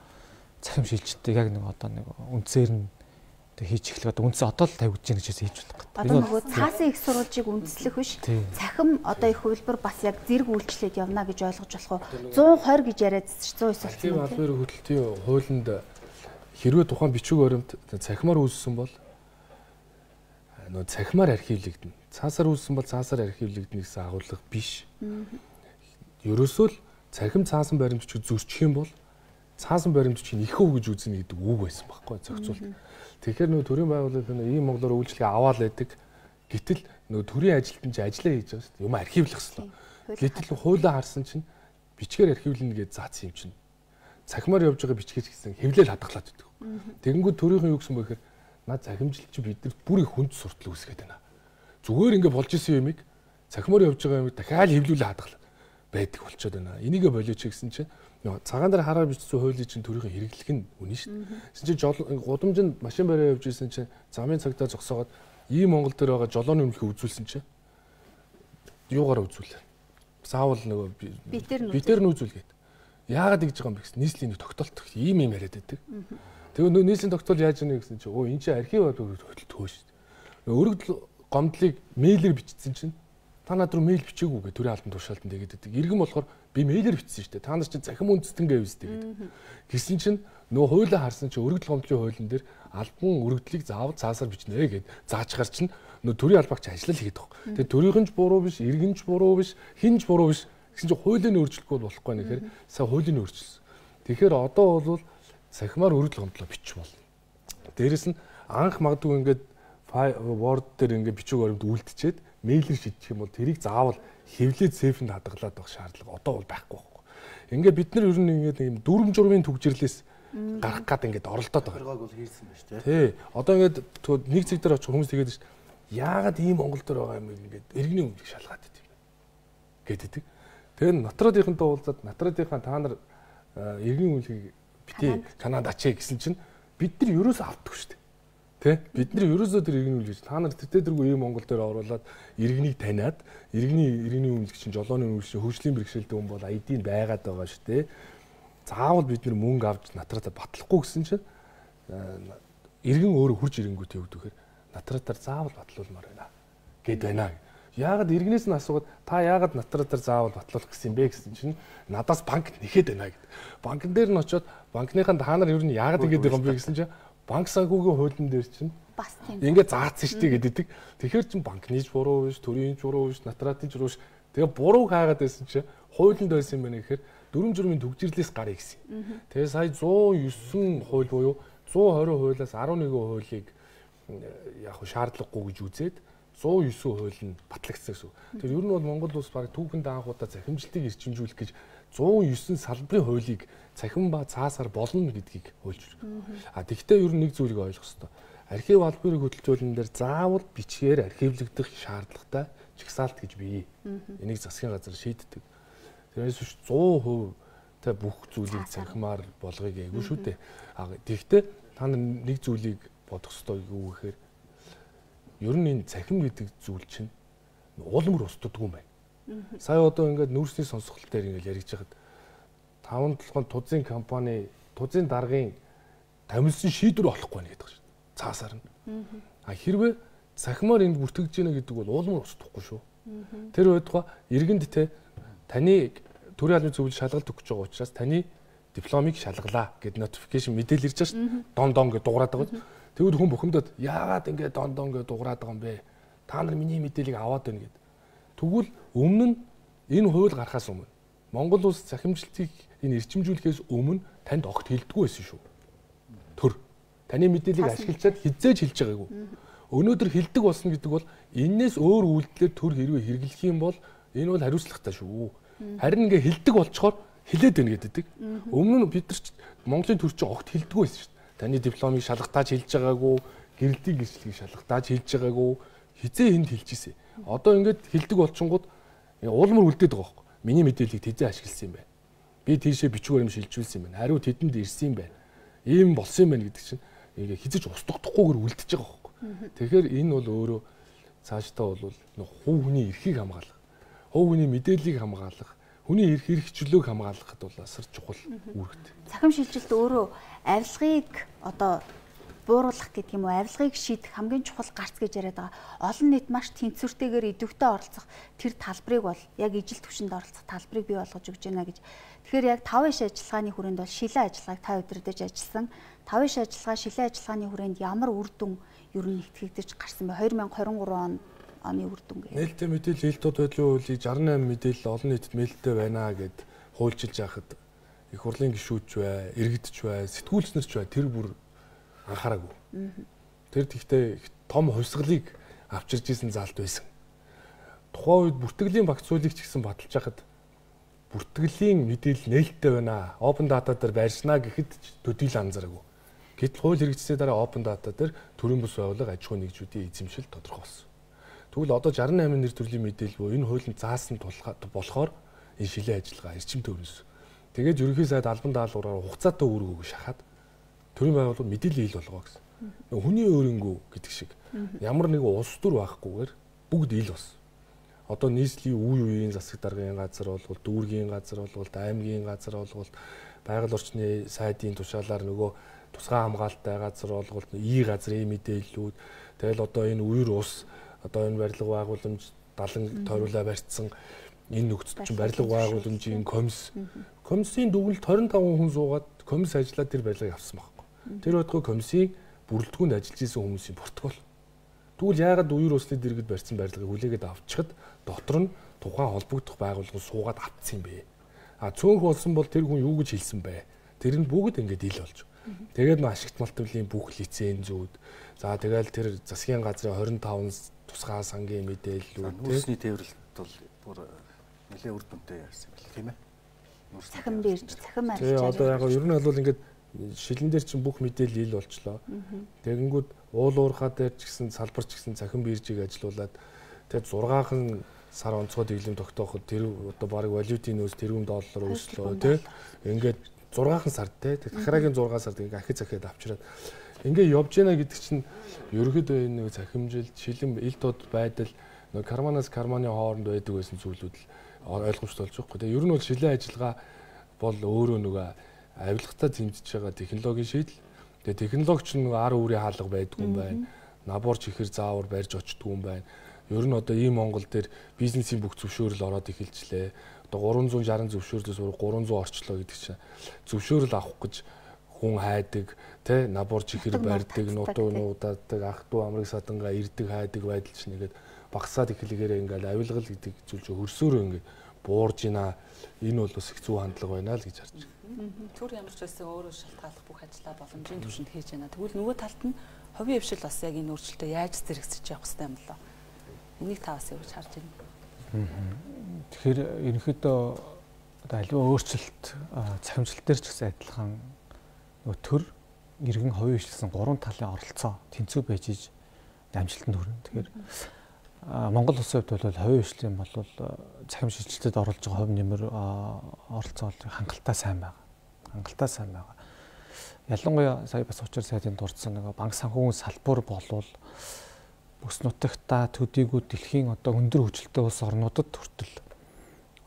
цахим шилжилтийг яг нэг одоо нэг үндсээр нь одоо хийж эхлэх одоо үндсээ одоо л тавьж гин гэж хийж болох гэдэг. Одоо нөгөө цаасын их сурвалжийг үндэслэх биш. Цахим одоо их хувилбар бас яг зэрэг үйлчлээд явна гэж ойлгож болох уу? one twenty гэж яриад one oh nine албан албан хөдөлтийн хуулинд хэрвээ тухайн бичиг баримт цахимаар үүссэн бол нөө цахимаар архивлэгдэнэ. Цаасаар үүссэн бол цаасаар архивлэгдэнэ гэсэн агуулга биш. Ерөөсөө л цахим цаасан баримтчиг зөрчих юм бол цаасан баримтчиг их өв гэж үзнэ гэдэг үг байсан байхгүй зохицуулт. Тэгэхээр нөө төрийн байгууллагын ийм монголоор үйлчлэгээ аваад байдаг. Гэтэл нөө төрийн ажилтан чи ажиллаа хийж байгаа шүү дээ. Юм архивлах ёстой. Гэтэл хуулиа харсан чинь бичгээр архивлна гэж заасан юм чинь. Цахимаар явж байгаа бичгээс гэсэн хэвлэл хадгалаад байдаг. Тэгэнгүүт төрийнхэн юу гэсэн бэ гэхээр наад захимжилт чи биднэрт бүр их хүнд суртал үүсгээд байна. Зүгээр ингэ болж исэн юмыг цахимаар явж байгаа юмыг дахиад хэвлүүлээ хадгалаад байдаг болчиход байна. Энийгээ болооч гэсэн чинь цагаан дээр хараар бичсэн хуулийн чинь төрийнхэн хэрэглэх нь үнэн шүү дээ. Тэгсэн чинь гудамжинд машин бариа явж исэн чинь замын цагдаа зогсоогоод ийм Монгол дээр байгаа жолооны өмнөхөө үзүүлсэн чинь юугаар үзүүлээ. Заавал нөгөө битээр нь үзүүлгээд. Яагаад ингэж байгаа юм бэ гэсэн нийслэлийн нэг тогтоолт ийм юм яриад байдаг. Тэгээ нөө нийслэлийн тогтоол яаж яана гэсэн чинь өө энэ чинь архив хөдөлтөө шүү дээ. Өргөдөл гомдлыг мэйлээр бичсэн чинь та над руу мэйл бичээгүй гэ төрийн албан тушаалтанд тэгээд байдаг. Иргэн болохоор би мэйлээр бичсэн шүү дээ. Та нар чинь захим үндэстэнгээ юустэй гэдэг. Гэсэн чинь нөө хуулиа харсан чинь өргөдөл гомдлын хуулийн дээр албан өргөдлийг заавал цаасаар бичнэ гэд заачгаар чинь нөө төрийн албаагч ажиллал хийгээд байгаа. Тэгээд төрийнхэн ч буруу биш, иргэн ч буруу биш, хин ч буруу биш. Гэсэн чинь хуулийн өөрчлөлтгүй болохгүй нэхэр сая хуулийн өөрчлөсөн. Тэгэхээр одоо бол сахимаар өргөдөл гомдлоо бичих болно. Дээрэс нь анх магадгүй ингээд Word дээр ингээд бичиг баримт үлдчихэд мэйлэр шийдчих юм бол тэрийг заавал хэвлээд сейфэнд хадгалаад байх шаардлага одоо бол байхгүй байхгүй. Ингээд бид нар ер нь ингээд юм дүрм журмын түгжирлээс гарах гад ингээд оролдоод байгаа. Тэргоог бол хийсэн ба шүү дээ. Тий. Одоо ингээд нэг зэг дээр очих хүмүүс тэгээд шүү. Яагаад ийм Монгол дээр байгаа юм ингээд иргэний өмнө шалгаад байт юм гэдэг. Тэгээд натрадынхантай уулзаад натрадынхаа та нар иргэний үлгийг битээ Канада ачаа гэсэн чинь бид нар ерөөсөө авдаггүй шүү дээ. Тэ бид нар ерөөсөө тэр иргэний үлгэж та нар тэр тэргүй ийм Монгол дээр оруулаад иргэнийг таниад иргэний иргэний үлгч чинь жолооны үлгч хөгжлийн бэрхшээлтэй хүн бол ай ди-нд байгаад байгаа шүү дээ. Заавал бид нар мөнгө авч натрадаа батлахгүй гэсэн чинь иргэн өөрөө хурж ирэнгүүт явдаг гэхээр натрадаар заавал батлуулмаар байна гэд байна. Яагаад иргэнээс нь асуугаад та яагаад натрадаар заавал батлуулах гэсэн юм бэ гэсэн чинь надаас банк нэхэд байна гэд. Банкн дээр нь очиод банкныхаа та нар ер нь яагаад ингэж байгаа юм бэ гэсэн чинь банк санхүүгийн хуулийн дээр чинь бас тийм. Ингээ заацсан шүү дээ гэдэг. Тэгэхээр чин банкныч буруу биш, төрийн буруу биш, натратын буруу биш. Тэгээ буруу хаагаад байсан чинь хуулинд байсан юм байна гэхээр дүрм журмын түгжирлээс гарыг гэсэн. Тэгээ сая one oh nine хууль буюу one twenty хуулиас eleven хуулийг яг шаардлагагүй гэж үзээд one oh nine хууль нь батлагдсан гэсэн. Тэр ер нь бол Монгол улс баг түүхэнд анх удаа захимжилтыг эрчимжүүлэх гэж one oh nine салбарын хуулийг цахим ба цаасаар болно гэдгийг хуульж байна. А тэгвэл ер нь нэг зүйлийг ойлгох хэрэгтэй. Архив албаны хөтөлбөрн дээр заавал бичгээр архивлагдах шаардлагатай жагсаалт гэж бий. Энийг засгийн газар шийддэг. Тэрнээс биш one hundred percent та бүх зүйлийг цахимаар болгоё гэгүй шүү дээ. А тэгвэл та нэг зүйлийг бодох хэрэгтэй юу гэхээр ер нь энэ цахим гэдэг зүйл чинь уулмөр устдаггүй юм байна. Сая одоо ингээд нүүрсний сонсголт дээр ингээд яриж байхад таван толгойн тузын компани тузын даргын тамилсан шийдвэр олохгүй байна гэдэг шүү. Цаасаар нь. А хэрвээ цахимаар энд бүртгэж гинэ гэдэг бол уулмөр устдахгүй шүү. Тэр байтугай иргэнд те таны төрийн албаны зөвлөл шалгалт өгч байгаа учраас таны дипломыг шалгалаа гэд notification мэдээлэл ирж байгаа шүү. Дон дон гэж дуурайд байгаа. Тэгвэл хүн бухимдаад яагаад ингэ дондоо ингэ дуурайд байгаа юм бэ? Та нар миний мэдээллийг аваад байна гэд. Тэгвэл өмнө нь энэ хууль гарахаас өмнө Монгол улс захимжилтыг энэ эрчимжүүлэхээс өмнө танд огт хэлдэггүй байсан шүү. Төр. Таны мэдээллийг ашиглаад хизээж хэлж байгаагүй. Өнөөдөр хэлдэг болсон гэдэг бол энээс өөр үйлдэлээр төр хэрвээ хэрэглэх юм бол энэ бол хариуцлагатай шүү. Харин ингээ хэлдэг болчоор хэлээд байна гэдэг. Өмнө нь бид нар Монголын төр чинь огт хэлдэггүй байсан шүү. Таны дипломыг шалгатааж хэлж байгаагүй, гэрэлтийн гэрчлэгийг шалгатааж хэлж байгаагүй, хизээ энд хэлж ирсэн. Одоо ингээд хэлдэг болчингууд уулмар үлдээд байгаа байхгүй. Миний мэдээллийг тэзээ ашигласан юм байна. Би тийшээ бичвэр юм шилжүүлсэн юм байна. Хариу тэдэнд ирсэн юм байна. Ийм болсон юм байна гэдэг чинь ингээ хизэж устдагдахгүйгээр үлдчихэж байгаа байхгүй. Тэгэхээр энэ бол өөрөө цаашдаа бол хувь хүний эрхийг хамгаалах, хувь хүний мэдээллийг хамгаалах, хүний эрх хэрэгчлөөг хамгаалахад бол асар чухал үүрэгтэй. Цахим шилжилт өөрөө авилгыг одоо бууруулах гэдэг юм уу, авилгыг шийдэх хамгийн чухал гарц гэж яриад байгаа. Олон нийт маш тэнцвэртэйгээр идэвхтэй оролцох тэр талбарыг бол яг ижил түвшинд оролцох талбарыг бий болгож өгч байна гэж. Тэгэхээр яг тав иш ажиллагааны хүрээнд бол шилэн ажиллагааг та удирдах ажилласан. тав иш ажиллагаа шилэн ажиллагааны хүрээнд ямар үр дүн ер нь итгэгдэж гарсан бэ? две тысячи двадцать три он оны үр дүн гээ. Нээлттэй мэдээлэл хэлтүүд байдлын хуулийг шестьдесят восемь мэдээлэл олон нийтэд нээлттэй байна гэд хуульчилж яхад их хурлын гишүүч бай, иргэдч бай, сэтгүүлчнэрч бай тэр бүр анхаараагүй. Тэр тэгтээ том хувьсгалыг авчирж исэн заалт байсан. Тухайн үед бүртгэлийн багц хуулийг ч гэсэн баталж хахад бүртгэлийн мэдээлэл нээлттэй байна. Open data дээр байршина гэхэд төдийл анзаараагүй. Гэтэл хууль хэрэгжсэний дараа open data дээр төрийн бус байгууллага аж ахуй нэгжүүдийн эзэмшил тодорхой болсон. Тэгвэл одоо шестьдесят восемь нэр төрлийн мэдээлэл буюу энэ хуулийн заасан болохоор энэ шилэн ажиллагаа эрчим төвнөөс. Тэгээд ерөнхий сайд албан даалгавраар хугацаатай үүрэг өгөх шахаад төрийн байгууллага мэдээлэл ил болгоо гэсэн. Хүний өөрөнгөө гэдэг шиг ямар нэг улс төр байхгүйгээр бүгд ил болсон. Одоо нийслэлийн үе үеийн засаг даргын газар болвол дүүргийн газар болвол аймгийн газар болвол байгаль орчны сайдын тушаалаар нөгөө тусгай хамгаалалттай газар болвол и газрын мэдээллүүд тэгэл одоо энэ үер ус одоо энэ барилга байгууламж далан тойруулаа барьцсан энэ нөхцөл чинь барилга байгууламжийн комисс комиссийн дүгнэлт двадцать пять хүн суугаад комисс ажиллаад тэр барилгыг авсан баг. Тэр байтугай комиссийн бүрэлдэхүүнд ажиллаж исэн хүмүүсийн протокол. Тэгвэл яагаад үер усны дэргэд барьсан барилгыг хүлээгээд авчихад дотор нь тухайн холбогдох байгууллага суугаад автсан юм бэ. А цөөнх болсон бол тэр хүн юу гэж хэлсэн бэ? Тэр нь бүгд ингэж ил болж. Тэгээд нөө ашигт малтвлын бүх лицензүүд. За тэгэл тэр засгийн газрын двадцать пять тусгай сангийн мэдээллүүд нүүрсний тээвэрлэлт бол бүр нэлээд үр дүнтэй ярьсан байл тийм ээ. Цахим дээрч цахим арилж. Тэгээ одоо яг ер нь бол ингээд шилэн дээр чинь бүх мэдээлэл ил болчлоо. Тэгэнгүүт уул уурхаа дээр ч гэсэн салбар ч гэсэн цахим биржийг ажилуулад тэгээд зургаахан сар онцгой дэглэм тогтооход тэр одоо баг валютын нөөц тэрбум доллар өслөө тий. Ингээд зургаахан сард тий. Дахрагийн зургаан сард ингээд ахиж захиад авчираад ингээд явж гэнэ гэдэг чинь ерөөхдөө энэ нэг цахимжилт шилэн ил тод байдал нэг карманаас карманы хооронд байдаг байсан зүйлүүд л ойлгомжтой болж байгаа. Тэгээ ер нь бол шилэн ажиллагаа бол өөрөө нөгөө авилгатай тэмцэж байгаа технологийн шийдэл. Тэгээ технологич нь ар үүрийн хаалга байдгүй юм байна. Наборч ихэр заавар барьж очтгүй юм байна. Ер нь одоо ийм Монгол дээр бизнесийн бүх зөвшөөрөл ороод эхэлжлээ. Одоо гурван зуун шаран зөвшөөрлөөс өөр гурван зуун орчлоо гэдэг чинь зөвшөөрөл авах гэж хүн хайдаг, тэ наборч ихэр барьдаг, нутуу нуудаадаг, ах дүү амрыг садангаа ирдэг хайдаг байдал чинь ингээд багасаад эхлэгээр ингээд авилгал гэдэг зүйл чинь хөрсөөрөө ингээд буурж ийна. Энэ бол бас их зүй хандлага байна л гэж харж байна. Түр ямар ч байсан өөрөө шалтгааллах бүх ажиллаа боломжийн түвшинд хийж байна. Тэгвэл нөгөө талд нь хувийн хвшил бас яг энэ өөрчлөлтөд яаж зэрэгсэж явах хэрэгтэй юм болоо. Энийг та бас яаж харж байна? Тэгэхээр ерөнхийдөө одоо аливаа өөрчлөлт цахимжилт дээр ч гэсэн адилхан нөгөө төр иргэн хувийн хвшилсэн гурван талын оролцоо тэнцүү байж иж амжилтанд хүрнэ. Тэгэхээр Монгол улсын хувьд бол хувийн хвшлийн бол цахим шилжилтэд оролж байгаа хувь нэмэр оролцоо хангалттай сайн байгаа. Хангалттай сайн байгаа. Ялангуяа сая бас учир сайдын дурдсан нэг банк санхүүгийн салбар болвол бүс нутагта төдийгүй дэлхийн одоо өндөр хөгжилтэй улс орнуудад хүртэл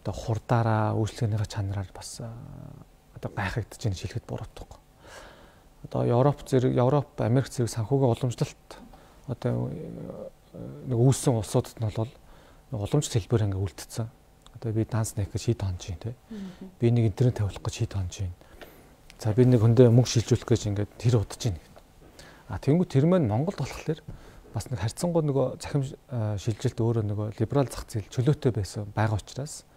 одоо хурдаараа үйлчлэгнийхээ чанараар бас одоо гайхагдаж байгаа шилхэд буруутгах. Одоо Европ зэрэг Европ, Америк зэрэг санхүүгийн уламжлалт одоо нэг үүссэн улсуудад нь бол уламжлалт хэлбэр ингээ үлдсэн. Одоо би данс нэх гэж шийд хонж юм тий. Би нэг интернет тавилах гэж шийд хонж юм. За би нэг хөндөө мөнгө шилжүүлэх гэж ингээд тэр удаж байна. А тэгэнгүүт тэр маань Монголд болохоор бас нэг харьцангуй нөгөө захим шилжилт өөрөө нөгөө либерал зах зээл чөлөөтэй байсан байгаа учраас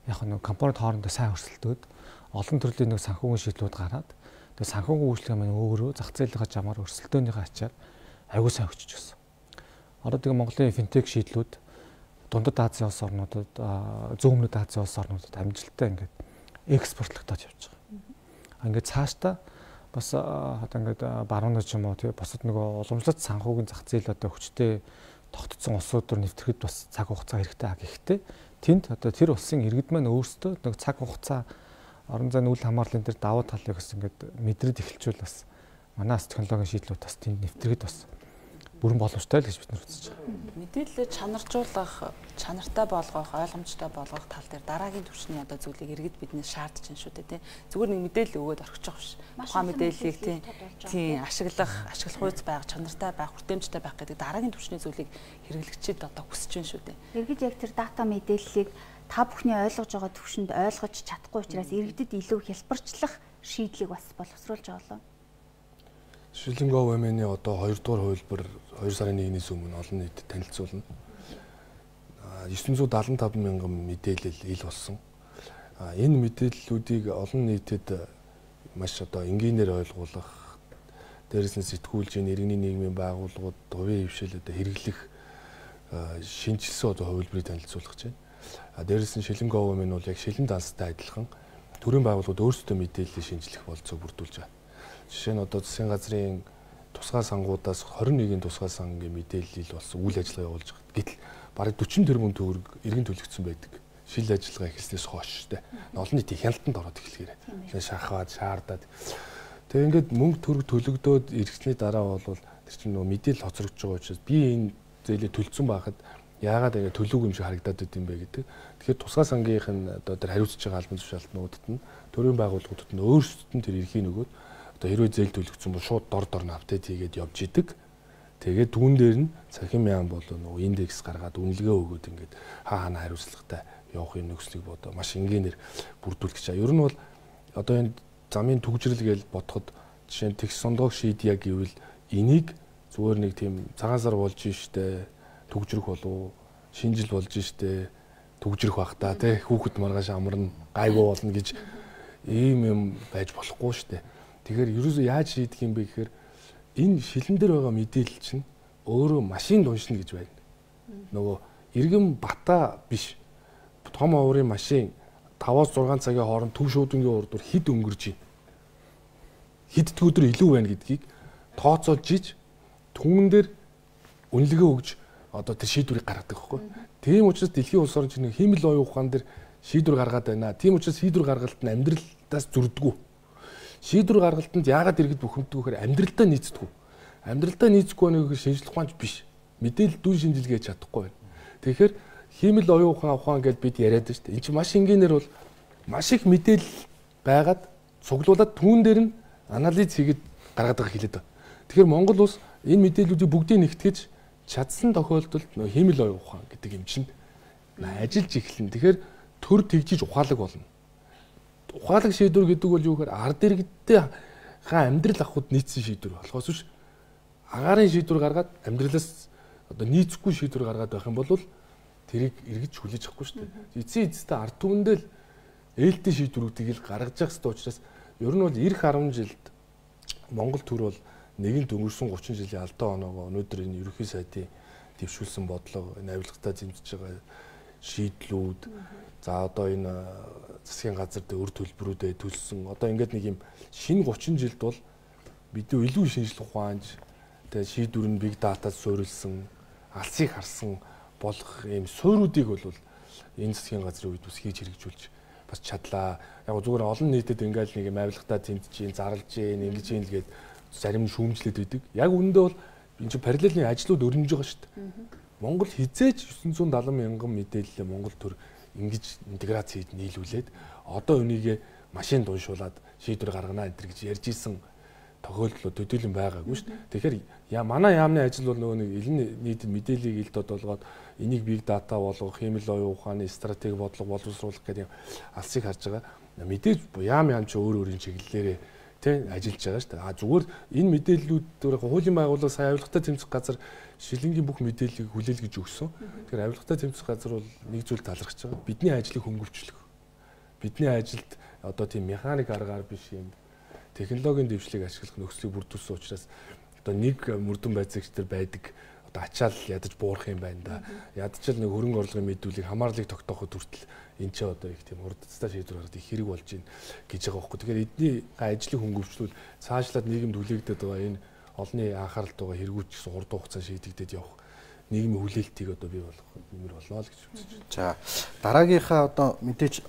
яг нэг компанид хоорондоо сайн өрсөлдөөд олон төрлийн нэг санхүүгийн шийдлүүд гараад тэгээ санхүүгийн үйлчлэг маань өөрөө зах зээлийн жамаар өрсөлдөөнийхөө ачаар аягүй сайн өчөж гисэн. Одоо тэгээ Монголын финтек шийдлүүд Дундад Азийн улс орнуудад зүүн өмнөд Азийн улс орнуудад амжилттай ингээд экспортлогдоод явж байгаа. Ингээд цаашдаа бас одоо ингээд баруунад ч юм уу тий бусад нөгөө уламжлалт санхүүгийн зах зээл одоо хүчтэй тогтцсон улсууд төр нэвтрэхэд бас цаг хугацаа хэрэгтэй а гэхдээ тэнд одоо тэр улсын иргэд маань өөрсдөө нэг цаг хугацаа орон зайны үйл хамаарлын дээр давуу талыг бас ингээд мэдрээд эхэлчихвэл бас манай технологийн шийдлүүд бас тэнд нэвтрэхэд бас бүрэн боломжтой л гэж бид нар үзэж байгаа. Мэдээлэлээ чанаржуулах, чанартай болгох, ойлгомжтой болгох тал дээр дараагийн түвшний одоо зүйлийг иргэд биднээс шаардж байна шүү дээ, тийм. Зүгээр нэг мэдээлэл өгөөд орхиж байгаа биш. Тухайн мэдээллийг тийм тийм ашиглах, ашиглах үйц байх, чанартай байх, хүртээмжтэй байх гэдэг дараагийн түвшний зүйлийг хэрэглэгчид одоо хүсэж байна шүү дээ. Иргэд яг тэр дата мэдээллийг та бүхний ойлгож байгаа түвшинд ойлгож чадахгүй учраас иргэдэд илүү хялбарчлах шийдлийг бас боловсруулж байгаа лөө. Шилэнгов эмээний одоо хоёрдугаар хувилбар хоёр сарын нэгнээс өмнө олон нийтэд танилцуулна. девятьсот семьдесят пять мянган мэдээлэл ил болсон. Энэ мэдээллүүдийг олон нийтэд маш одоо энгийнээр ойлгуулах, дээрээс нь сэтгүүлчийн иргэний нийгмийн байгууллагууд хувийн хвшил одоо хэрэглэх шинжилсэн одоо хувилбарыг танилцуулах гэж байна. Дээрээс нь Шилэнгов эмээ нь бол яг шилэн данстай адилхан төрийн байгууллагууд өөрсдөө мэдээлэл шинжлэх болцоог бүрдүүлж байгаа. Жишээ нь одоо засгийн газрын тусгай сангуудаас двадцать одны тусгай сангийн мэдээлэл болсон үйл ажиллагаа явуулж байгаа. Гэтэл бараг forty тэрбум төгрөг иргэн төлөгдсөн байдаг. Шил ажиллагаа эхэлснээс хойш штэ. Олон нийтийн хяналтанд ороод эхлэхээр. Тэгээ шахаад, шаардаад. Тэгээ ингээд мөнгө төгрөг төлөгдөөд иргэсний дараа бол тэр чинь нөгөө мэдээлэл хоцрогдож байгаа учраас би энэ зээлээ төлцсөн байхад яагаад ингэ төлөөг юм шиг харагдаад байд юм бэ гэдэг. Тэгэхээр тусгай сангийнх нь одоо тэр хариуцж байгаа албан тушаалтнуудад нь төрийн байгууллагуудад нь өөрсдөд нь тэр эрхийг нөгөөд одоо хэрвээ зээл төлөгдсөн бол шууд дор дор нь апдейт хийгээд явж идэг. Тэгээд түүн дээр нь цахим яам бол нөгөө индекс гаргаад үнэлгээ өгөөд ингээд хаа хаана хариуцлагатай явахын нөхцөлийг бодоо маш энгийнээр бүрдүүлэх гэж. Ер нь бол одоо энэ замын түгжрэл гэж бодоход жишээ нь тэгш сондоог шийдъя гэвэл энийг зүгээр нэг тийм цагаан сар болж штэ түгжрэх болов шинжил болж штэ түгжрэх бах та тий хүүхэд маргааш амарна гайгүй болно гэж ийм юм байж болохгүй штэ. Тэгэхээр ерөөсөө яаж шийдэх юм бэ гэхээр энэ шилэн дээр байгаа мэдээлэл чинь өөрөө машин уншина гэж байна. Нөгөө иргэн бата биш. Том оврын машин таваас зургаан цагийн хооронд төв шуудангийн урдуур хэд өнгөрж байна. Хэд өдөр илүү байна гэдгийг тооцоолж иж түмэн дээр үнэлгээ өгж одоо тэр шийдвэрийг гаргадаг байхгүй. Тийм учраас дэлхийн улс орн чинь хиймэл оюун ухаан дээр шийдвэр гаргаад байна. Тийм учраас шийдвэр гаргалт нь амьдралдаас зөрдгөө. Шийдвэр гаргалтанд яагаад иргэд бухимддаг вэхээр амьдралдаа нийцдэг. Амьдралдаа нийцэхгүй нэг шинжлэх ухаанч биш. Мэдээлэл дүн шинжилгээ хийж чадахгүй байна. Тэгэхээр хиймэл оюун ухаан ухаан гэдээ бид яриад байна шүү дээ. Энд чинь маш энгийнээр бол маш их мэдээлэл байгаад цуглуулад түүн дээр нь анализ хийгээд гаргаад байгаа хэлээд байна. Тэгэхээр Монгол улс энэ мэдээллүүдийг бүгдийг нэгтгэж чадсан тохиолдолд нөө хиймэл оюун ухаан гэдэг юм чинь ажиллаж эхэлнэ. Тэгэхээр төр тэгжиж ухаалаг болно. Ухаалаг шийдвэр гэдэг бол юу гэхээр ард иргэдтэй хаа амьдрал авахуд нийцсэн шийдвэр болохоос биш агаарын шийдвэр гаргаад амьдралаас одоо нийцэхгүй шийдвэр гаргаад байх юм бол тэрийг эргэж хүлээж авахгүй шүү дээ. Эцсийн эцэстээ ард түмэндээ л ээлтийн шийдвэрүүдийг л гаргаж явах хэрэгтэй учраас ер нь бол эх ten жилд Монгол төр бол нэгэнт өнгөрсөн thirty жилийн алдаа оноогоо өнөөдөр энэ ерөнхий сайдын дэвшүүлсэн бодлого энэ авилгатаа зэмжиж байгаа шийдлүүд за одоо энэ засгийн газар дээр өр төлбөрүүдэд төлсөн одоо ингээд нэг юм шинэ thirty жилд бол бидний илүү шинжлэх ухаанч тэгээ шийдвэр нь big data-д суурилсан алсыг харсан болох ийм суурьудыг бол энэ засгийн газрын үед бас хийж хэрэгжүүлж бас чадлаа. Яг зүгээр олон нийтэд ингээл нэг юм авилгатаа тэмдэж, зарлж, ингэж юм л гээд зарим нь шүүмжлээд байдаг. Яг үүндээ бол энэ чинь параллелын ажлууд өрнөж байгаа шүү дээ. Монгол хизээж nine hundred seventy мянган мэдээлэлээ Монгол төр ингэж интеграц хийж нийлүүлээд одоо өнийгээ машин дуншуулад шийдвэр гаргана энэ гэж ярьж исэн тохиолдлууд төдийлөн байгаагүй шүү дээ. Тэгэхээр яа манай яамны ажил бол нөгөө нэг элен нийтэд мэдээллийг илд олгоод энийг big data болгох, хиймэл оюун ухааны стратеги бодлого боловсруулах гэдэг алсыг харж байгаа. Мэдээж яам яам ч өөр өөрийн чиглэлээрээ тий ажиллаж байгаа шүү дээ. А зүгээр энэ мэдээллүүд хуулийн байгууллага сая авилгатай тэмцэх газар шилэнгийн бүх мэдээллийг хүлээл гэж өгсөн. Тэгэхээр авилгатай тэмцэх газар бол нэг зүйл талархаж байгаа. Бидний ажлыг хөнгөвчлөх. Бидний ажилд одоо тийм механик аргаар биш юм технологийн дэвшлиг ашиглах нөхцөлийг бүрдүүлсэн учраас одоо нэг мөрдөн байцаагч нар байдаг одоо ачаал ядаж буурах юм байна да. Ядчил нэг хөрөнгө орлогын мэдүүлгийг хамаарлыг тогтооход хүртэл энэ ч одоо их тийм урдцтай шийдвэр гаргах их хэрэг болж байна гэж байгаа байхгүй. Тэгэхээр эдний ажлыг хөнгөвчлүүл цаашлаад нийгэмд хүлээгдээд байгаа энэ олонний анхааралд байгаа хэрэгүүд ч гэсэн урт хугацаанд шийдэгдээд явах нийгмийн хүлээлтийг одоо бий болгох нэмэр болно л гэж үзэж байна. За дараагийнхаа одоо мэдээж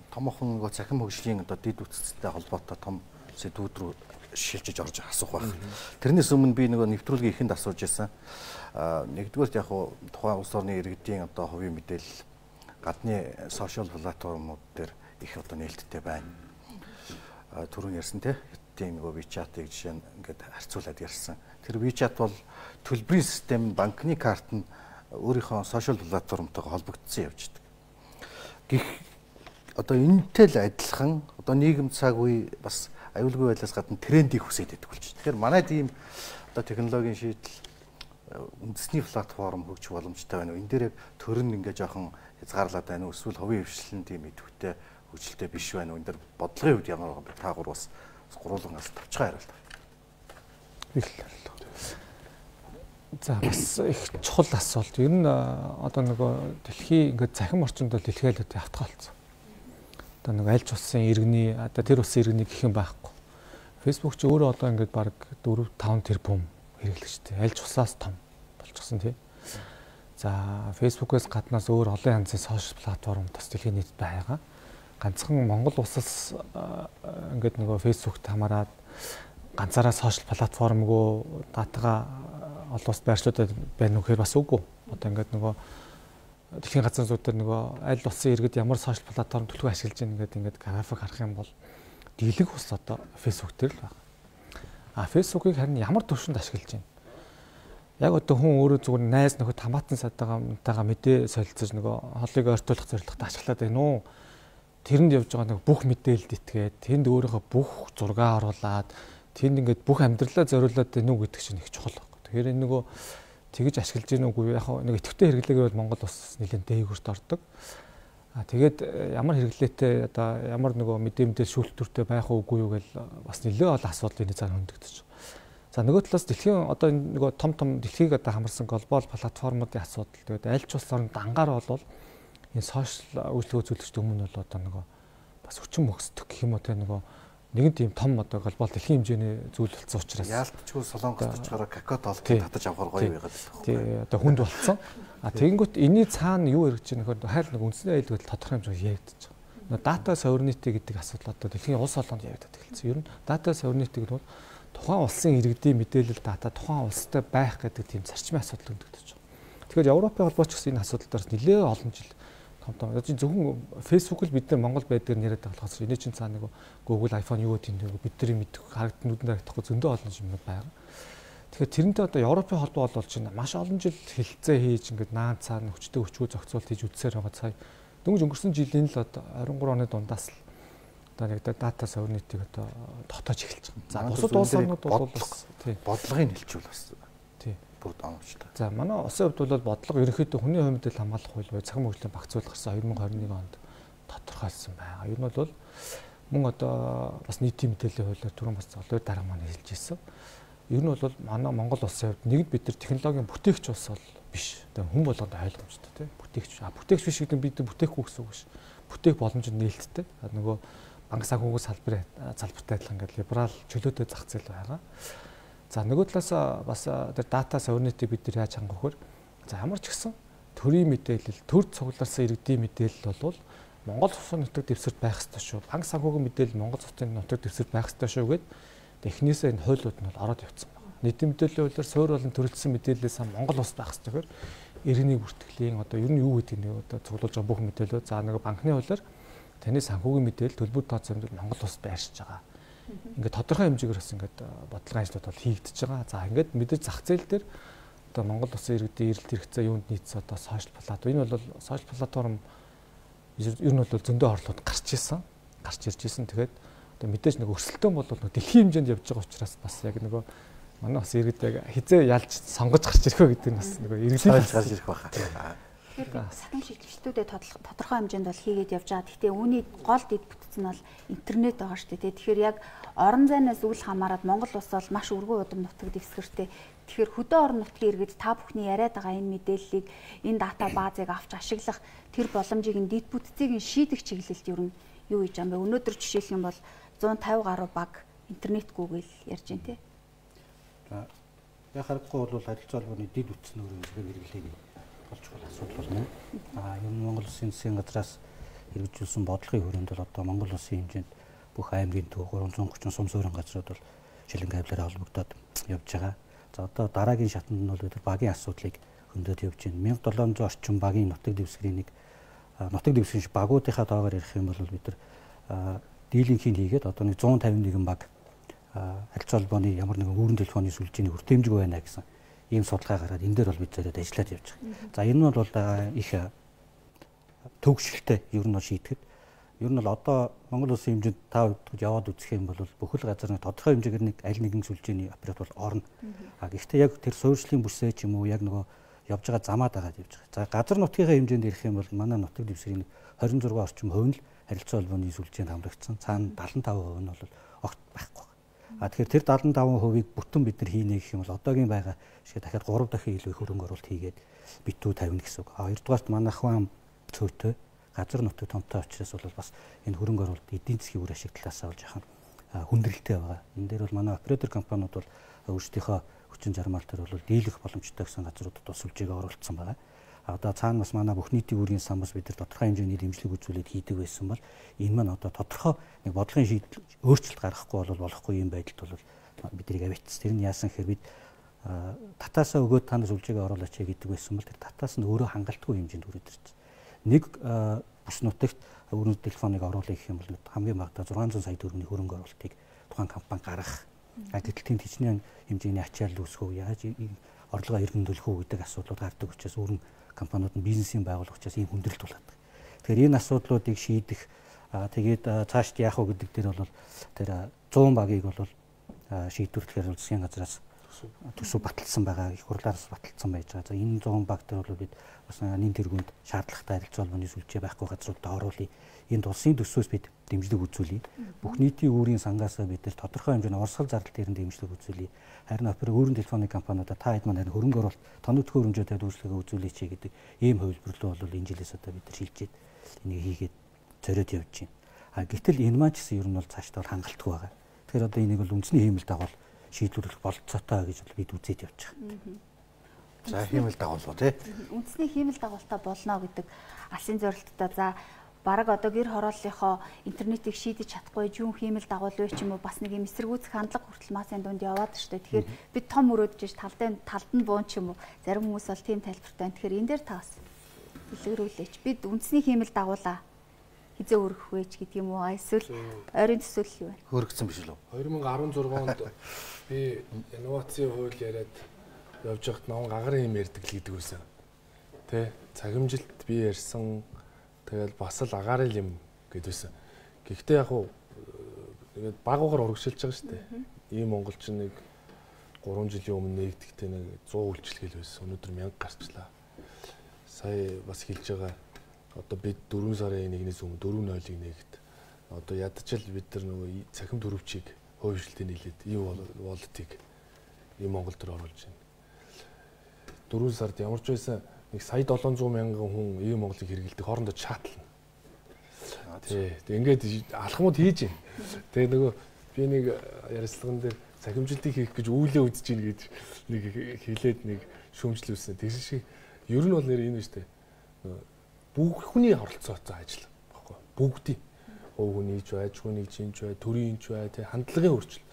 томоохон нөгөө цахим хөгжлийн одоо дид үтцтэй холбоотой том сэдвүүд рүү шилжиж орж асуух байх. Тэрнээс өмнө би нөгөө нэвтрүүлгийн ихэнд асууж байсан. А нэгдүгээр яг хуу тухайн улс орны иргэдийн одоо хувийн мэдээлэл гадны сошиал платформуд дээр их одоо нээлттэй байна. А түрүүн ярьсан те тийм нөгөө WeChat-ыг жишээ нь ингээд харьцуулаад ярьсан. Тэр WeChat бол төлбөрийн систем, банкны карт нь өөрийнхөө сошиал платформтойгоо холбогдсон явж байгаа. Гэх одоо энэтэй л адилхан одоо нийгэм цаг үе бас аюулгүй байлаас гадна трендийг хүсээд байдаг болж байна. Тэгэхээр манай тийм одоо технологийн шийдэл үндэсний платформ хөгжих боломжтой байна уу? Энэ дээр төрн ингээ жоохон хязгаарлаад байна уу? Эсвэл хувийн хвшлэн тийм идэвхтэй хөгжилтэй биш байна уу? Энэ дээр бодлогын хувьд ямар байгаа бэ? Та гур бас гурвуулгаас тавчгаа хариулт. Их л хариулт. За бас их чухал асуулт. Ер нь одоо нөгөө дэлхийн ингээ захим орчинд бол дэлхийлэлт автах болсон. Одоо нэг аль ч улсын иргэний одоо тэр улсын иргэний гэх юм байхгүй. Facebook ч өөрөө одоо ингээд баг дөрөв таван тэрбум хэрэглэгчтэй. Аль ч улсаас том болчихсон тий. За Facebook-ээс гаднаас өөр олон янзын сошиал платформ бас дэлхийн нийтэд байгаа. Ганцхан Монгол улсаас ингээд нөгөө Facebook-т хамаарад ганцаараа сошиал платформгүй датагаа олон улсад байршлуудад байна уу гэхээр бас үгүй. Одоо ингээд нөгөө дэлхийн газрын зүйдээр нөгөө аль улсын иргэд ямар сошиал платформ төлөв ашиглаж байгаа ингээд ингээд график харах юм бол дийлэг ус одоо Facebook дээр л байна. А Facebook-ыг харин ямар төвшөнд ашиглаж байна? Яг одоо хүн өөрөө зүгээр найз нөхөд хамаатан садаагаамтайгаа мэдээ солилцож нөгөө холыг ойртуулах зорилготой ашиглаад байна уу? Тэрэнд явж байгаа нэг бүх мэдээлэлд итгээд тэнд өөрийнхөө бүх зураг оруулаад тэнд ингээд бүх амьдралаа зориулаад байна уу гэдэг чинь их чухал байна. Тэгэхээр энэ нөгөө тэгж ашиглаж гин үгүй яг нэг идэвхтэй хэрэглээгээр бол Монгол бас нэлээд дээгүүрт ордог. А тэгээд ямар хэрэглээтэй одоо ямар нөгөө мэдээ мэдээлэл шүүлтүртэй байх уугүй юу гэл бас нэлээд олон асуудал энэ цаана хөндөгдөж. За нөгөө талаас дэлхийн одоо нөгөө том том дэлхийг одоо хамарсан глобал платформуудын асуудал тэгээд аль ч улс орнд ангаар болвол энэ сошиал үйлчлэг үзүүлэгчд өмнө бол одоо нөгөө бас хүчин мөхсдөг гэх юм уу те нөгөө нэгэн тийм том одоо глобал дэлхийн хэмжээний зүйл болсон учраас яалтчгүй солонгост очихоор какао толгой татаж авахар гоё байгаад байна. Тий одоо хүнд болцсон. А тэгэнгүүт энэний цаана юу хэрэгж байгаа нөхөр хайл нэг үндсний аюулгүй тодорхой хэмжээгээр яригдчих. Нөгөө дата sovereignty гэдэг асуудал одоо дэлхийн улс олонд яригдаад эхэлсэн. Ер нь data sovereignty гэдэг нь тухайн улсын иргэдийн мэдээлэл дата тухайн улстай байх гэдэг тийм зарчмын асуудал өндөгдөж байгаа. Тэгэхээр Европын холбооч гэсэн энэ асуудал дээр нэлээд олон жил том том. Одоо зөвхөн Facebook л бид нар Монгол байдгаар нэрэд байгаа болохоос энэ чинь цаана нэг Google, iPhone юу гэдэг нь бидний мэдэх харагдсан нүдэнд харагдахгүй зөндөө олон юмнууд байгаа. Тэгэхээр тэрнтэй одоо Европын холбоо бол чинь маш олон жил хилцээ хийж ингээд наан цаана хүчтэй өчгөө зохицуулт хийж үтсээр байгаа цай. Дөнгөж өнгөрсөн жилийн л одоо арван гурван оны дундаас л одоо нэг data sovereignty-г одоо тогтоож эхэлж байгаа. За бусад улс орнууд бол бас тий бодлогыг хэлчихвэл бас тий бүр оновчтой. За манай улсын хувьд бол бодлого ерөнхийдөө хүний хувийн мэдээлэл хамгаалах хууль бай захим хөгжлийн багцуулах гарсан хоёр мың двадцать нэг онд тодорхойлсон байгаа. Ер нь бол мөн одоо бас нийтийн мэдээллийн хуулиар түрүүн бас золбоор дарга маань хэлж ирсэн. Ер нь бол манай Монгол улсын хувьд нэгд бид нар технологийн бүтээгч улс бол биш. Тэгээ хүн болгоод ойлгомжтой тийм бүтээгч. А бүтээгч биш гэдэг нь бид бүтээхгүй гэсэн үг биш. Бүтээх боломж нь нээлттэй. Нөгөө банк санхүүгийн салбарын залбиртай адилхан ингээд либерал чөлөөтэй зах зээл байгаа. За нөгөө талаас бас тэр data sovereignty бид нар яаж хангах вэ? За ямар ч гэсэн төрийн мэдээлэл, төр цугларсан иргэдийн мэдээлэл бол Монгол улсын нутаг дэвсгэрт байх ёстой шүү. Банк санхүүгийн мэдээлэл Монгол улсын нутаг дэвсгэрт байх ёстой шүү гэд технээсээ энэ хуулиуд нь бол ороод явцсан байна. Нийтийн мэдээллийн хуулиар суурь болон төрөлдсөн мэдээлэлээс Монгол улс байх ёстой гэхээр иргэний бүртгэлийн одоо ер нь юу гэдэг нь одоо цуглуулж байгаа бүх мэдээлэл за нэг банкны хуулиар таны санхүүгийн мэдээлэл төлбөр тооцоо хэмжээнд Монгол улсад байршиж байгаа. Ингээд тодорхой хэмжээгээр бас ингээд бодлогын ажлууд бол хийгдэж байгаа. За ингээд мэдээж зах зээл дээр одоо Монгол улсын иргэдийн эрэлт хэрэгцээ юунд нийцсэн одоо сошиал платформ. Энэ бол сошиал платформ ер нь бол зөндөө орлууд гарч ирсэн. Гарч ирж ирсэн. Тэгээд одоо мэдээж нэг өрсөлдөөн бол нэг дэлхийн хэмжээнд явж байгаа учраас бас яг нөгөө манай бас иргэд яг хизээ ялж сонгож гарч ирэх вэ гэдэг нь бас нөгөө иргэдээс гарч ирэх байхаа. Тэгэхээр сахим шилжилтүүдэд тодорхой хэмжээнд бол хийгээд явж байгаа. Гэхдээ үүний гол дэд бүтц нь бол интернет байгаа шүү дээ. Тэгэхээр яг орон зайнаас үл хамааран Монгол улс бол маш өргөн удам нутаг дэвсгэртэй. Тэгэхээр хөдөө орон нутгийн иргэд та бүхний яриад байгаа энэ мэдээллийг, энэ дата баазыг авч ашиглах тэр боломжийг нь дэд бүтцийг нь шийдэх чиглэлд юу нь юу хийж байгаа юм бэ? Өнөөдөр жишээлх юм бол зуун тавь гаруй баг интернетгүйгээл ярьж байна тий. За яг харахгүй бол харилцаа холбооны дэд бүтц нь өөрөө хэрэглээг болж байгаа асуудал болно. Аа юм Монгол Улсын засгийн газраас хэрэгжүүлсэн бодлогын хүрээнд бол одоо Монгол Улсын хэмжээнд бүх аймгийн төв гурван зуун гурван сум суурин газрууд бол шилэн кабелаараа холбогдоод явж байгаа. За одоо дараагийн шатанд нь бол бид багийн асуудлыг хөндөд явж байна. мянга долоон зуун орчим багийн нутаг дэвсгэрийн нэг нутаг дэвсгэрийн багуудынхаа тоогоор ярих юм бол бид нар дийлэнхийг хийгээд одоо нэг зуун тавин нэгэн баг харилцаа холбооны ямар нэгэн үүрэн телефоны сүлжээний хүртээмжгүй байна гэсэн ийм судалгаа гараад энэ дээр бол бид зөвхөн ажиллаад явж байгаа. За энэ нь бол их төгсөлттэй ер нь шийдэхэд ер нь бол одоо Монгол Улсын хэмжээнд та удаад яваад үзэх юм бол бүхэл газар нэг тодорхой хэмжээгээр нэг аль нэгэн сүлжээний оператор бол орно. А гэхдээ яг тэр суурьшлын бүсээ ч юм уу яг нөгөө явж байгаа замаа дагаад явж байгаа. За газар нутгийнхаа хэмжээнд ирэх юм бол манай нутаг дэвсгэрийн хорин зураг орчим хувь нь л харилцаа холбооны сүлжээнд хамрагдсан. Цаана дадлан таван хувь нь бол огт байхгүй. А тэгэхээр тэр дадлан таван хувийг бүтэн бид нар хийнэ гэх юм бол одоогийн байгаа шиг дахиад гурав дахин илүү хөрөнгө оруулалт хийгээд битүү тавина гэсэн үг. А хоёрдугаарт манайхан цөөтэй газар нутаг томтой учраас бол бас энэ хөрөнгө оруулалт эдийн засгийн үр ашиг талаас болж яхан хүндрэлтэй байгаа. Энэ дээр бол манай оператор компаниуд бол өөрсдийнхөө хүчин чармаал төр бол дийлэх боломжтой гэсэн газруудад бас сүлжээгээ оруулсан байгаа. А одоо цаана бас манай бүх нийтийн үүргийн сан бас бид нар тодорхой хэмжээний дэмжлэг үзүүлээд хийдэг байсан бол энэ маань одоо тодорхой нэг бодлогын шийдэл өөрчлөлт гаргахгүй бол болохгүй юм байдалд бол биднийг авитс. Тэр нь яасан гэхээр бид татаасаа өгөөд та нар сүлжээгээ оруулаач гэдэг байсан бол тэр татаас нь өөрөө хангалтгүй хэмжээнд хүрээд ирсэн. Нэг бүс нутагт өргөн телефоныг оруулах гэх юм бол хамгийн багадаа зургаан зуун сая төгрөгийн хөрөнгө оруулалтыг тухайн компани гаргах. Гэтэл тийм хичнээн хэмжээний ачаал үүсгэх яаж орлогоо эргэмдүүлэх үү гэдэг асуудлууд гардаг учраас өргөн компаниуд нь бизнесийн байгууллага учраас ийм хүндрэлт болоод. Тэгэхээр энэ асуудлуудыг шийдэх тэгээд цаашд яах вэ гэдэг дээр бол тэр зуун багийг бол шийдвэрлэхээр засгийн газраас төсөв баталсан байгаа, их хурлаараас баталсан байж байгаа. За энэ зуун баг дээр бол бид бас нэн тэргуунд шаардлагатай харилцаа холбооны сүлжээ байхгүй газруудад оруулъя. Энд улсын төсвөөс бид дэмжлэг үзүүлье. Бүх нийтийн үүрийн сангаас бид нар тодорхой хэмжээний урсгал зардал дээр дэмжлэг үзүүлье. Харин опер өөрийн телефоны компаниудаа та хэд маань хөрөнгө оруулалт тоног төхөөрөмжөд үйлчлэгээ үзүүлээч гэдэг ийм хувилбарлуу бол энэ жилээс одоо бид нар шилжээд энийг хийгээд зориод явж байна. А гэтэл энэ маань ч гэсэн ер нь бол цаашдаа бол хангалтгүй байгаа. Тэгэхээр одоо энийг бол үндэсний хиймэл дагавал шийдвэрлэх бололцоотой гэж бол бид үзээд явж байгаа. За хиймэл дагуулуу тий. Үндэсний хиймэл дагуултаа болно гэдэг алсын зорилттой. За бараг одоо гэр хорооллынхоо интернетийг шийдэж чадахгүй жүүн хиймэл дагуулвэ ч юм уу бас нэг юм эсэргүүцэх хандлага хүртэл масын дунд яваад штэ. Тэгэхээр бид том өрөөдөж талдын талд нь буун ч юм уу зарим хүмүүс бол тийм тайлбартай байна. Тэгэхээр энэ дээр та бас дэлгэрүүлээч. Бид үндэсний хиймэл дагуулаа хизээ өргөх вэ ч гэдэг юм уу? Эсвэл ойрын төсөөлөл юу вэ? Хөргөцсөн биш үү? две тысячи десять онд би инновацийн хууль яриад явж байхад наван гагарын юм ярьдаг л гэдэг үсэн. Тэ цагимжилт би ярьсан тэгэл бас л агаарын юм гэдээсэн. Гэхдээ яг хуу тэгээд багуугаар урагшилж байгаа шүү дээ. Ийм монголчин нэг гурван жилийн өмнө нэгдэхдээ нэг сто үйлчлэгэл байсан. Өнөөдөр мянга гарчлаа. Сая бас хэлж байгаа. Одоо бид дөрвөн сарын нэгнээс өмнө дөрвөн нойлыг нэгт. Одоо ядчил бид нар нөгөө цахим төрөвчийг хойшлтын нийлээд ийм волтыг ийм Монгол төр оруулж байна. дөрвөн сард ямар ч байсан нэг сая долоон зуун мянган хүн ийм Монголыг хэрэгэлдэг хоорондоо чатлна. Тий. Тэг ингээд алхмууд хийж байна. Тэгээ нөгөө би нэг ярилцлаган дээр цахимжилтыг хийх гэж үүлээ үзэж гин гэж нэг хэлээд нэг шүүмжлүүлсэн. Тэр шиг ер нь бол нэр энэ шүү дээ. Бүх хүний оролцоотой ажил баггүй. Бүгдийн хувь хүний ч байж, хүний чинь ч бай, төрийн ч бай, тэг хандлагын өөрчлөлт.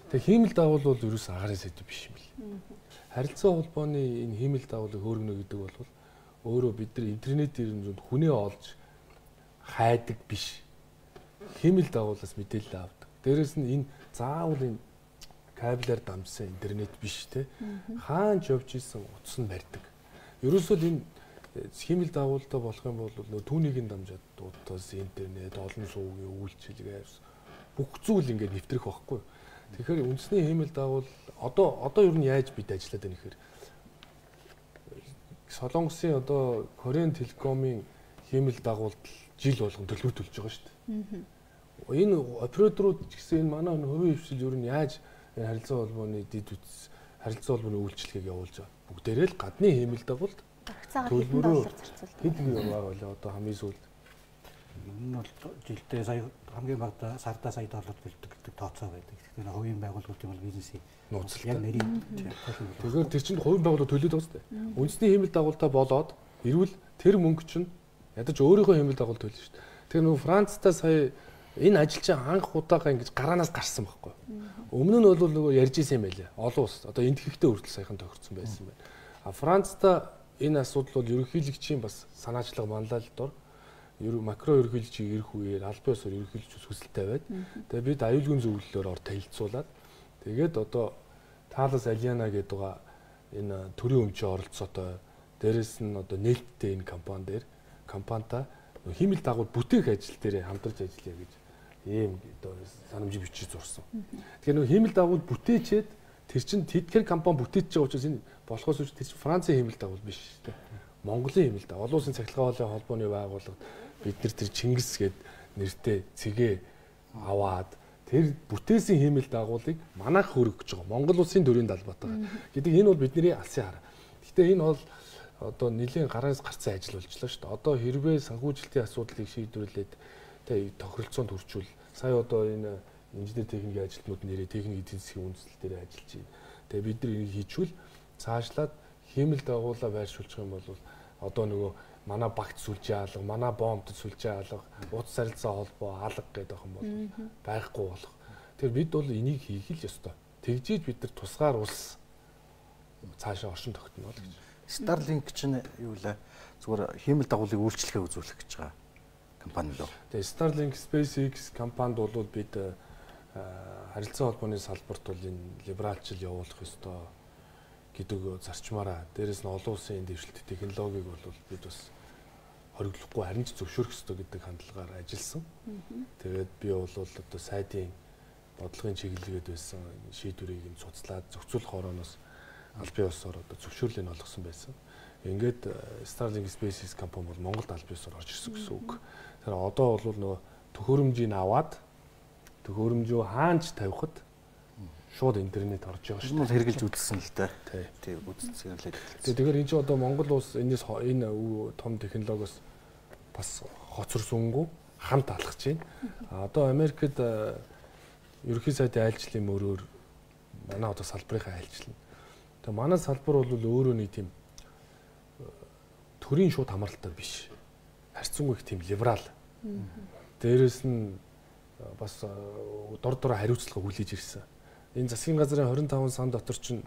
Тэг хиймэл дагуул бол ерөөс агарын сэдв биш юм бэл. Харилцаа холбооны энэ хиймэл дагуулыг хөөргөнө гэдэг бол өөрөө бид нар интернетээр нь хүнээ олж хайдаг биш. Хиймэл дагуулаас мэдээлэл авдаг. Дээрээс нь энэ заавал энэ кабелаар дамжсан интернет биш те. Хаанч явж исэн утас нь барьдаг. Ерөөсөө энэ хиймэл дагуултай болох юм бол нөө түүнийг нь дамжаад утас, интернет, олон суугийн үйлчилгээ бүх зүйл ингээд нэвтрэх байхгүй. Тэгэхээр үндэсний хиймэл дагавал одоо одоо ер нь яаж бид ажиллаад байна гэхээр Солонгосын одоо Кореan Telecom-ийн хиймэл дагуулд жил болгон төлбөр төлж байгаа шүү дээ. Энэ операторууд ч гэсэн энэ манай хувийн хвшил ер нь яаж харилцаа холбооны дид үтс харилцаа холбооны үйлчлэгийг явуулж байгаа. Бүгдээрээ л гадны хиймэл дагуулд төлбөрөөр зарцуулдаг. Хэд их байгаа вэ одоо хамгийн сүүлд? Энэ бол жилдээ сая хамгийн багадаа сардаа сая доллар төлдөг гэдэг тооцоо байдаг. Тэгэхээр хувийн байгууллагуудын бол бизнесийн нууцлалтай. Яг нэрийн. Тэгэхээр тэр чинь хувийн байгууллага төлөөд байгаа шүү дээ. Үндэсний хиймэл дагуултаа болоод ирвэл тэр мөнгө чинь ядаж өөрийнхөө хиймэл дагуулт төлнө шүү дээ. Тэгэхээр нөгөө Францтай сая энэ ажил чинь анх удаага ингэж гараанаас гарсан байхгүй. Өмнө нь бол нөгөө ярьж исэн юм байлаа. Олон улс одоо энд хэвтэй хүртэл саяхан тохирсон байсан байна. А Францтай энэ асуудал бол ерөнхийлөгчийн бас санаачлага манлайлалт дор ер макро ерөнхийлөгчийг ирэх үеэр албан ёсоор ерөнхийлөгч хүсэлтэй байд. Тэгээ бид аюулгүй зөвлөлөөр ор танилцуулаад тэгээд одоо Thales Aliana гэдэг байгаа энэ төрийн өмчийн оролцоотой дээрэс нь одоо нээлттэй энэ компани дээр компанитай хиймэл дагуул бүтээх ажил дээр хамтарч ажиллая гэж ийм одоо санамж бичиж зурсан. Тэгэхээр нөгөө хиймэл дагуул бүтээчээд тэр чинь тэдгээр компани бүтээж байгаа учраас энэ болохоос үүш тэр чинь Францын хиймэл дагуул биш шүү дээ. Монголын хиймэл дагуул. Олон улсын цахилгаан хоолойн холбооны байгууллага бид нар тэр Чингис гээд нэртэй цэгээ аваад тэр бүтээсэн хиймэл дагуулыг манайх хөргөж байгаа. Монгол улсын төрийн далбаатайгаар гэдэг энэ бол бидний алсын хараа. Гэхдээ энэ бол одоо нэлийн гараас гарсан ажил болжлоо шүү дээ. Одоо хэрвээ санхүүжилтийн асуудлыг шийдвэрлээд тэ тохиролцоонд хүрчүүл сая одоо энэ инженер техникийн ажилтнууд нэрээ техник эдийн засгийн үндэслэл дээр ажиллаж байна. Тэгээ бид нар энийг хийчвэл цаашлаад хиймэл дагуулаа байршуулчих юм бол одоо нөгөө манай багт сүлжээ алга, манай бомбд сүлжээ алга, утас харилцаа холбоо алга гэдэг юм бол байхгүй болох. Тэгэхээр бид бол энийг хийх л ёстой. Тэгжиж бид нар тусгаар улс цаашаа оршин тогтно л гэж. Starlink чинь юу лээ? Зүгээр хиймэл дагуулыг үйлчлэгээ үзүүлэх гэж байгаа компани лөө. Тэгээ Starlink SpaceX компанид бол бид харилцаа холбооны салбарт бол энэ либералчил явуулах ёстой гэдэг зарчмаараа дээрэс нь олон улсын дэвшилт технологиг бол бид бас хориглохгүй харин ч зөвшөөрөх ёстой гэдэг хандлагаар ажилласан. Тэгээд би бол одоо сайдын бодлогын чиглэлгээд байсан шийдвэрийг нь цуцлаад зохицуулах орооноос албан ёсоор одоо зөвшөөрлийг олгосон байсан. Ингээд Starlink SpaceX компани бол Монголд албан ёсоор орж ирсэн гэсэн үг. Тэгэхээр одоо бол нөгөө төхөөрөмжийг аваад төхөөрөмжөө хаанч тавихад шууд интернет орж байгаа шүү. Энэ бол хэрэгжилж үзсэн л дээ. Тий, үзсэн л. Тэгэхээр энэ чинь одоо Монгол улс энэс энэ том технологиос бас хоцорсонгүй хамт алхаж байна. Одоо Америкт ерөнхий сайдын айлчлалын мөрөөр манай одоо салбарынхаа айлчлал. Тэгээ манай салбар бол өөрөө нэг тийм төрийн шууд хамааралтай биш. Харьцангуй их тийм либерал. Дээрээс нь бас дор дор хариуцлага хүлээж ирсэн. Энэ засгийн газрын хорин таван сан дотор чинь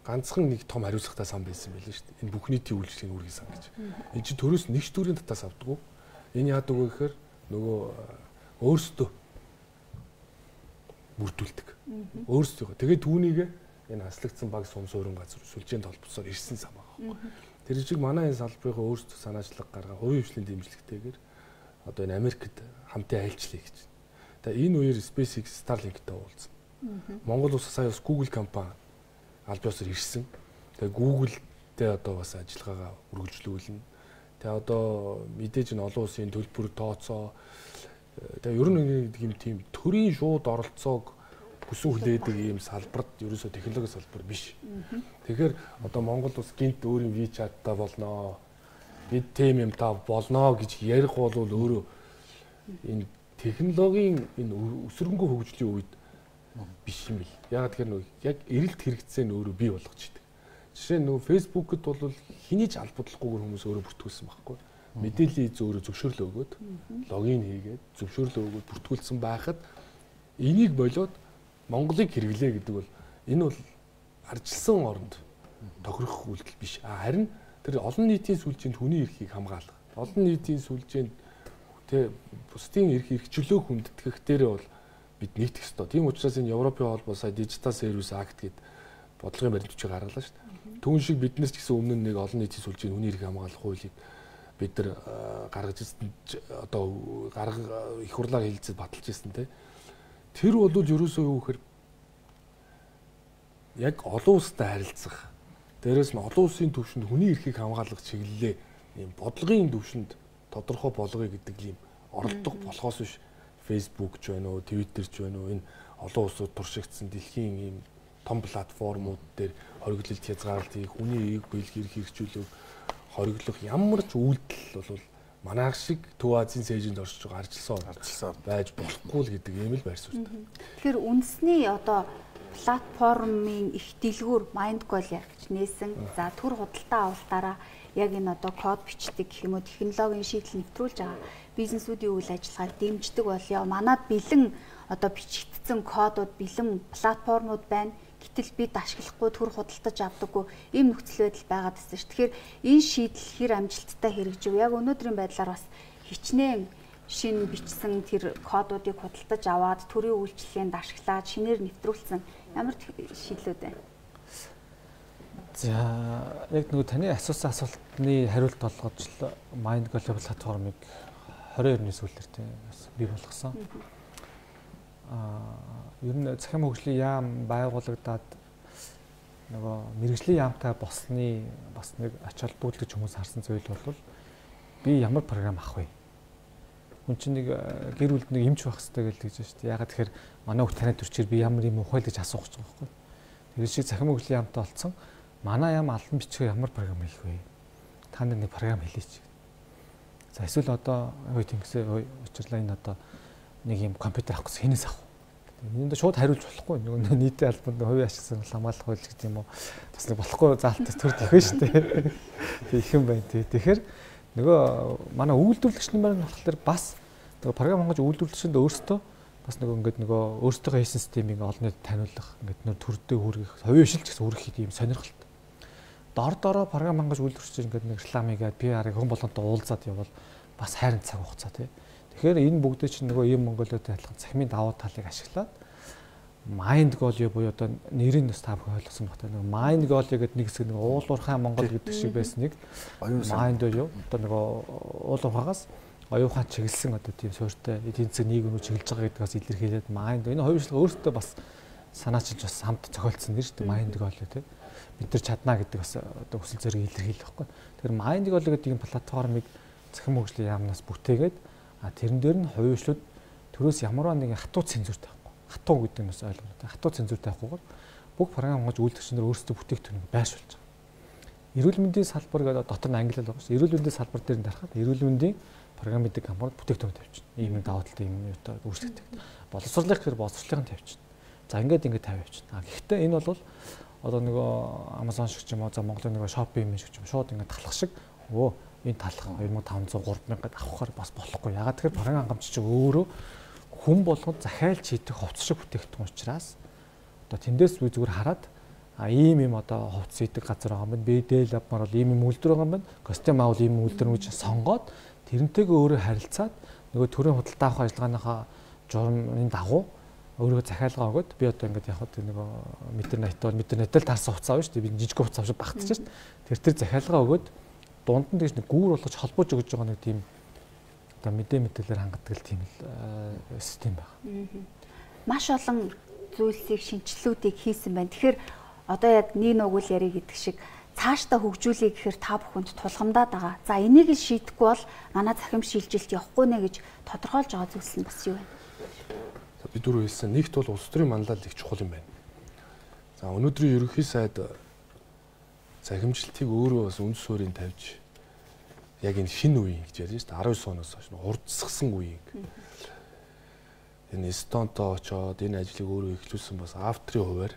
ганцхан нэг том хариуцлагатай сан байсан байл шүү дээ. Энэ бүх нийтийн үйлчлэгийн үүргийн сан гэж. Энэ чинь төрөөс нэгч төрийн татаас авдаг. Энэ яадаг вэ гэхээр нөгөө өөрсдөө бүрдүүлдэг. Өөрсдөө. Тэгээд түүнийг энэ хаслагдсан баг сум суурин газар сүлжээнд холбосоор ирсэн сан байгаа. Тэр чиг манай энэ салбарынхаа өөрсдөө санаачлаг гаргаа хувийн хвшлийн дэмжлэгтэйгээр одоо энэ Америкт хамтын айлчлаа гэж. Тэгээ энэ үеэр SpaceX Starlink-тэй уулзсан. Монгол улс сая бас Google компани албан ёсоор ирсэн. Тэгээ Google-тэй одоо бас ажиллагаагаа үргэлжлүүлнэ. Тэгээ одоо мэдээж нь олон улсын төлбөр тооцоо тэгээ ер нь нэг юм тийм төрийн шууд оролцоог хүсэн хүлээдэг ийм салбарт ерөөсөө технологи салбар биш. Тэгэхээр одоо Монгол улс гинт өөрийн WeChat-та болноо. Бид тэм юм та болноо гэж ярих бол өөрөө энэ технологийн энэ өсрөнгөө хөгжлийн үед биш юм бил. Яг тэгэхээр нөө яг эрэлт хэрэгцээ нь өөрөө бий болгож идэг. Жишээ нь нөө Facebook-д бол хэний ч албадлахгүйгээр хүмүүс өөрөө бүртгүүлсэн байхгүй. Мэдээллийн эз өөрөө зөвшөөрлөө өгөөд логин хийгээд зөвшөөрлөө өгөөд бүртгүүлсэн байхад энийг болоод Монголыг хэрэглээ гэдэг бол энэ бол арчилсан оронд тохирох үйлдэл биш. Харин тэр олон нийтийн сүлжээнд хүний эрхийг хамгаалах. Олон нийтийн сүлжээнд тэ бусдын эрх эрхчлөө хүндэтгэх дээрээ бол бид нийтэх ёстой. Тийм учраас энэ Европын холбоо сая Digital Service Act гэдэг бодлогын баримт бичиг гаргалаа шүү дээ. Түүн шиг бид нар ч гэсэн өмнө нь нэг олон нийтийн сүлжээний хүний эрхийг хамгаалах хуулийг бид нар гаргаж ирсэн одоо гарга их хурлаар хэлэлцэж баталж ирсэн те. Тэр бол ерөөсөө юу гэхээр яг олон улстай харилцах. Дээрээс нь олон улсын түвшинд хүний эрхийг хамгаалах чиглэлээ ийм бодлогын түвшинд тодорхой болгоё гэдэг ийм оролдого болохоос биш Facebook ч байна уу, Twitter ч байна уу, энэ олон улсууд туршигдсан дэлхийн ийм том платформуд дээр хориглолт хязгаарлалт хийх, хүний эрийг биелэх, эрх хэрэгжүүлэх, хориглох ямар ч үйлдэл бол манайх шиг Төв Азийн цээжинд оршиж байгаа арчилсан арчилсан байж болохгүй л гэдэг ийм л байр суурьтай. Тэгэхээр үндэсний одоо платформын их дэлгүүр Mindgoal гэж нээсэн. За төр худалдаа авалтаараа яг энэ одоо код бичдэг гэх юм уу технологийн шийдэл нэвтрүүлж байгаа бизнесүүдийн үйл ажиллагааг дэмждэг болёо. Манад бэлэн одоо бичигдсэн кодууд, бэлэн платформуд байна. Гэтэл бид ашиглахгүй төр худалдаж авдаггүй ийм нөхцөл байдал байгаад байна шүү. Тэгэхээр энэ шийдэл хэр амжилттай хэрэгжив. Яг өнөөдрийн байдлаар бас хичнээн шин бичсэн тэр кодуудыг худалдаж аваад төрийн үйлчлэгэнд ашиглаад шинээр нэвтрүүлсэн ямар шийдлүүд байна? За яг нөгөө таны асуусан асуултны хариулт болгож л Mindgoal платформыг двадцать двадцать оны сүүлээр тийм бий болгосон. Аа ер нь захим хөгжлийн яам байгуулагдаад нөгөө мэрэгжлийн яамтай болсны бас нэг ач холбогдол хүмүүс харсан зүйл бол би ямар програм авах вэ? Хүн чинь нэг гэр бүлд нэг эмч байх хэрэгтэй гэж хэлж шүү дээ. Ягаад тэгэхээр манай хүүхд танай төрчээр би ямар юм ухайл гэж асуух гэж байгаа байхгүй. Тэр шиг захим хөгжлийн яамтай болцсон. Манай яам албан бичгээ ямар програм хийх вэ? Та нар нэг програм хэлээч. За эсвэл одоо ой тэнгисээ ой учирлаа энэ одоо нэг юм компьютер авах гэсэн хинээс авах. Энд шууд хариулж болохгүй. Нөгөө нийтийн албанд хувийн ашигсан хамгаалах хууль гэдэг юм уу. Бас нэг болохгүй заалт төр тэх шүү дээ. Тэг их юм байна тий. Тэгэхээр нөгөө манай үйлдвэрлэгч нар болохоор бас нөгөө програм хангаж үйлдвэрлэгчэнд өөрсдөө бас нөгөө ингээд нөгөө өөрсдөө хийсэн системийг олон нийтэд таниулах ингээд нөр төрдөө хүргэх, хувийн шилж гэсэн хүргэх юм сонирхолтой. Дор дороо програм хангаж үйлдвэрлэгч ингээд нэг рекламыгээд пи ар-ыг хүн болгонтой уулзаад явбал бас хайрын цаг хугацаа тий. Тэгэхээр энэ бүгдээ чинь нөгөө ийм Монголиотой адилхан цахимын давуу талыг ашиглаад Mindgoal буюу одоо нэрийг бас та бүхэн ойлгосон багтаа нөгөө Mindgoal гэдэг нэг хэсэг нэг уулуурхай Монгол гэдэг шиг байсан нэг Mind юу одоо нөгөө уулуурхагаас оюухан чиглэсэн одоо тийм суурьтай эдийн засаг нийгмүүд чиглэж байгаа гэдгээс илэрхийлээд Mind энэ хоёр шилдэг өөртөө бас санаачилж бас хамт зохиолдсон нэр шүү дээ Mindgoal тий бид нар чадна гэдэг бас одоо хүсэл зориг илэрхийлэх байхгүй. Тэгэхээр Mindgoal гэдэг энэ платформыг захим хөгжлийн яамнаас бүтээгээд а тэрэн дээр нь хувьчлууд төрөөс ямарваа нэгэн хатуу цензур тавихгүй. Хатуу гэдэг нь бас ойлгомжтой. Хатуу цензур тавихгүйгээр бүх програм хангаж үйлдвэрчнэр өөрсдөө бүтээгдэхүүнийг байршуулж байгаа. Эрүүл мэндийн салбар гэдэг дотор нь англи байгаа шүү. Эрүүл мэндийн салбар дээр нь дарахад эрүүл мэндийн програм гэдэг компанид бүтээгдэхүүн тавьчихна. Ийм даваа талтай юм юу үүсгдэг. Боловсруулах гэхээр боловсруулахын тавьчихна. За ингээд ингээд тавь явчихна. А гэхдээ энэ бол одоо нөгөө Amazon шиг ч юм уу за Монголын нөгөө Shopee юм шиг ч юм шууд ингээд талах шиг өө энэ талах two thousand five hundred three thousand авахаар бас болохгүй. Ягаад тэгэхээр програм хангамч чинь өөрөө хүн болгоод захиалж хийдэг хувцс шиг бүтээгдэхүүн учраас одоо тэндээс би зүгээр хараад а ийм юм одоо хувцс хийдэг газар байгаа юм байна. Би дээл авмаар бол ийм юм үйлдвэр байгаа юм байна. Костюм аавал ийм үйлдвэр гэж сонгоод тэрнтэйгээ өөрөө харилцаад нөгөө төрийн худалдаа авах ажиллагааныхаа журмын дагуу өөрөө захиалгаа өгöd би одоо ингээд яг хөө нөгөө метрнэт бол метрнэтэл таарсан хувцас авна шүү дээ. Би жижиг хувцас авч багтчих шүү дээ. Тэр тэр захиалгаа өгöd дунд нь тэгж нэг гүүр болгож холбож өгж байгаа нэг тийм одоо мэдээ мэдээлэлээр хангадаг тийм л систем байна. Маш олон зүйлсийг шинжилгүүдийг хийсэн байна. Тэгэхээр одоо яг нэг нүгэл яри гэдэг шиг цаашдаа хөгжүүлэе гэхээр та бүхэнд тулгамдаад байгаа. За энийг л шийдэхгүй бол манай захим шилжилт явахгүй нэ гэж тодорхойлж байгаа зүйлс нь бас юу вэ? Би дөрөв хэлсэн нэгт бол улс төрийн манлайлал их чухал юм байна. За өнөөдрийн ерөнхий сайд захимжилтыг өөрөө бас үндэс суурийг тавьж яг энэ шинэ үеийн гэж ярьж байна шүү дээ. twelve оноос хойш хурдсгсан үеийг. Энэ Эстонтой очоод энэ ажлыг өөрөө эхлүүлсэн бас автрийн хуваар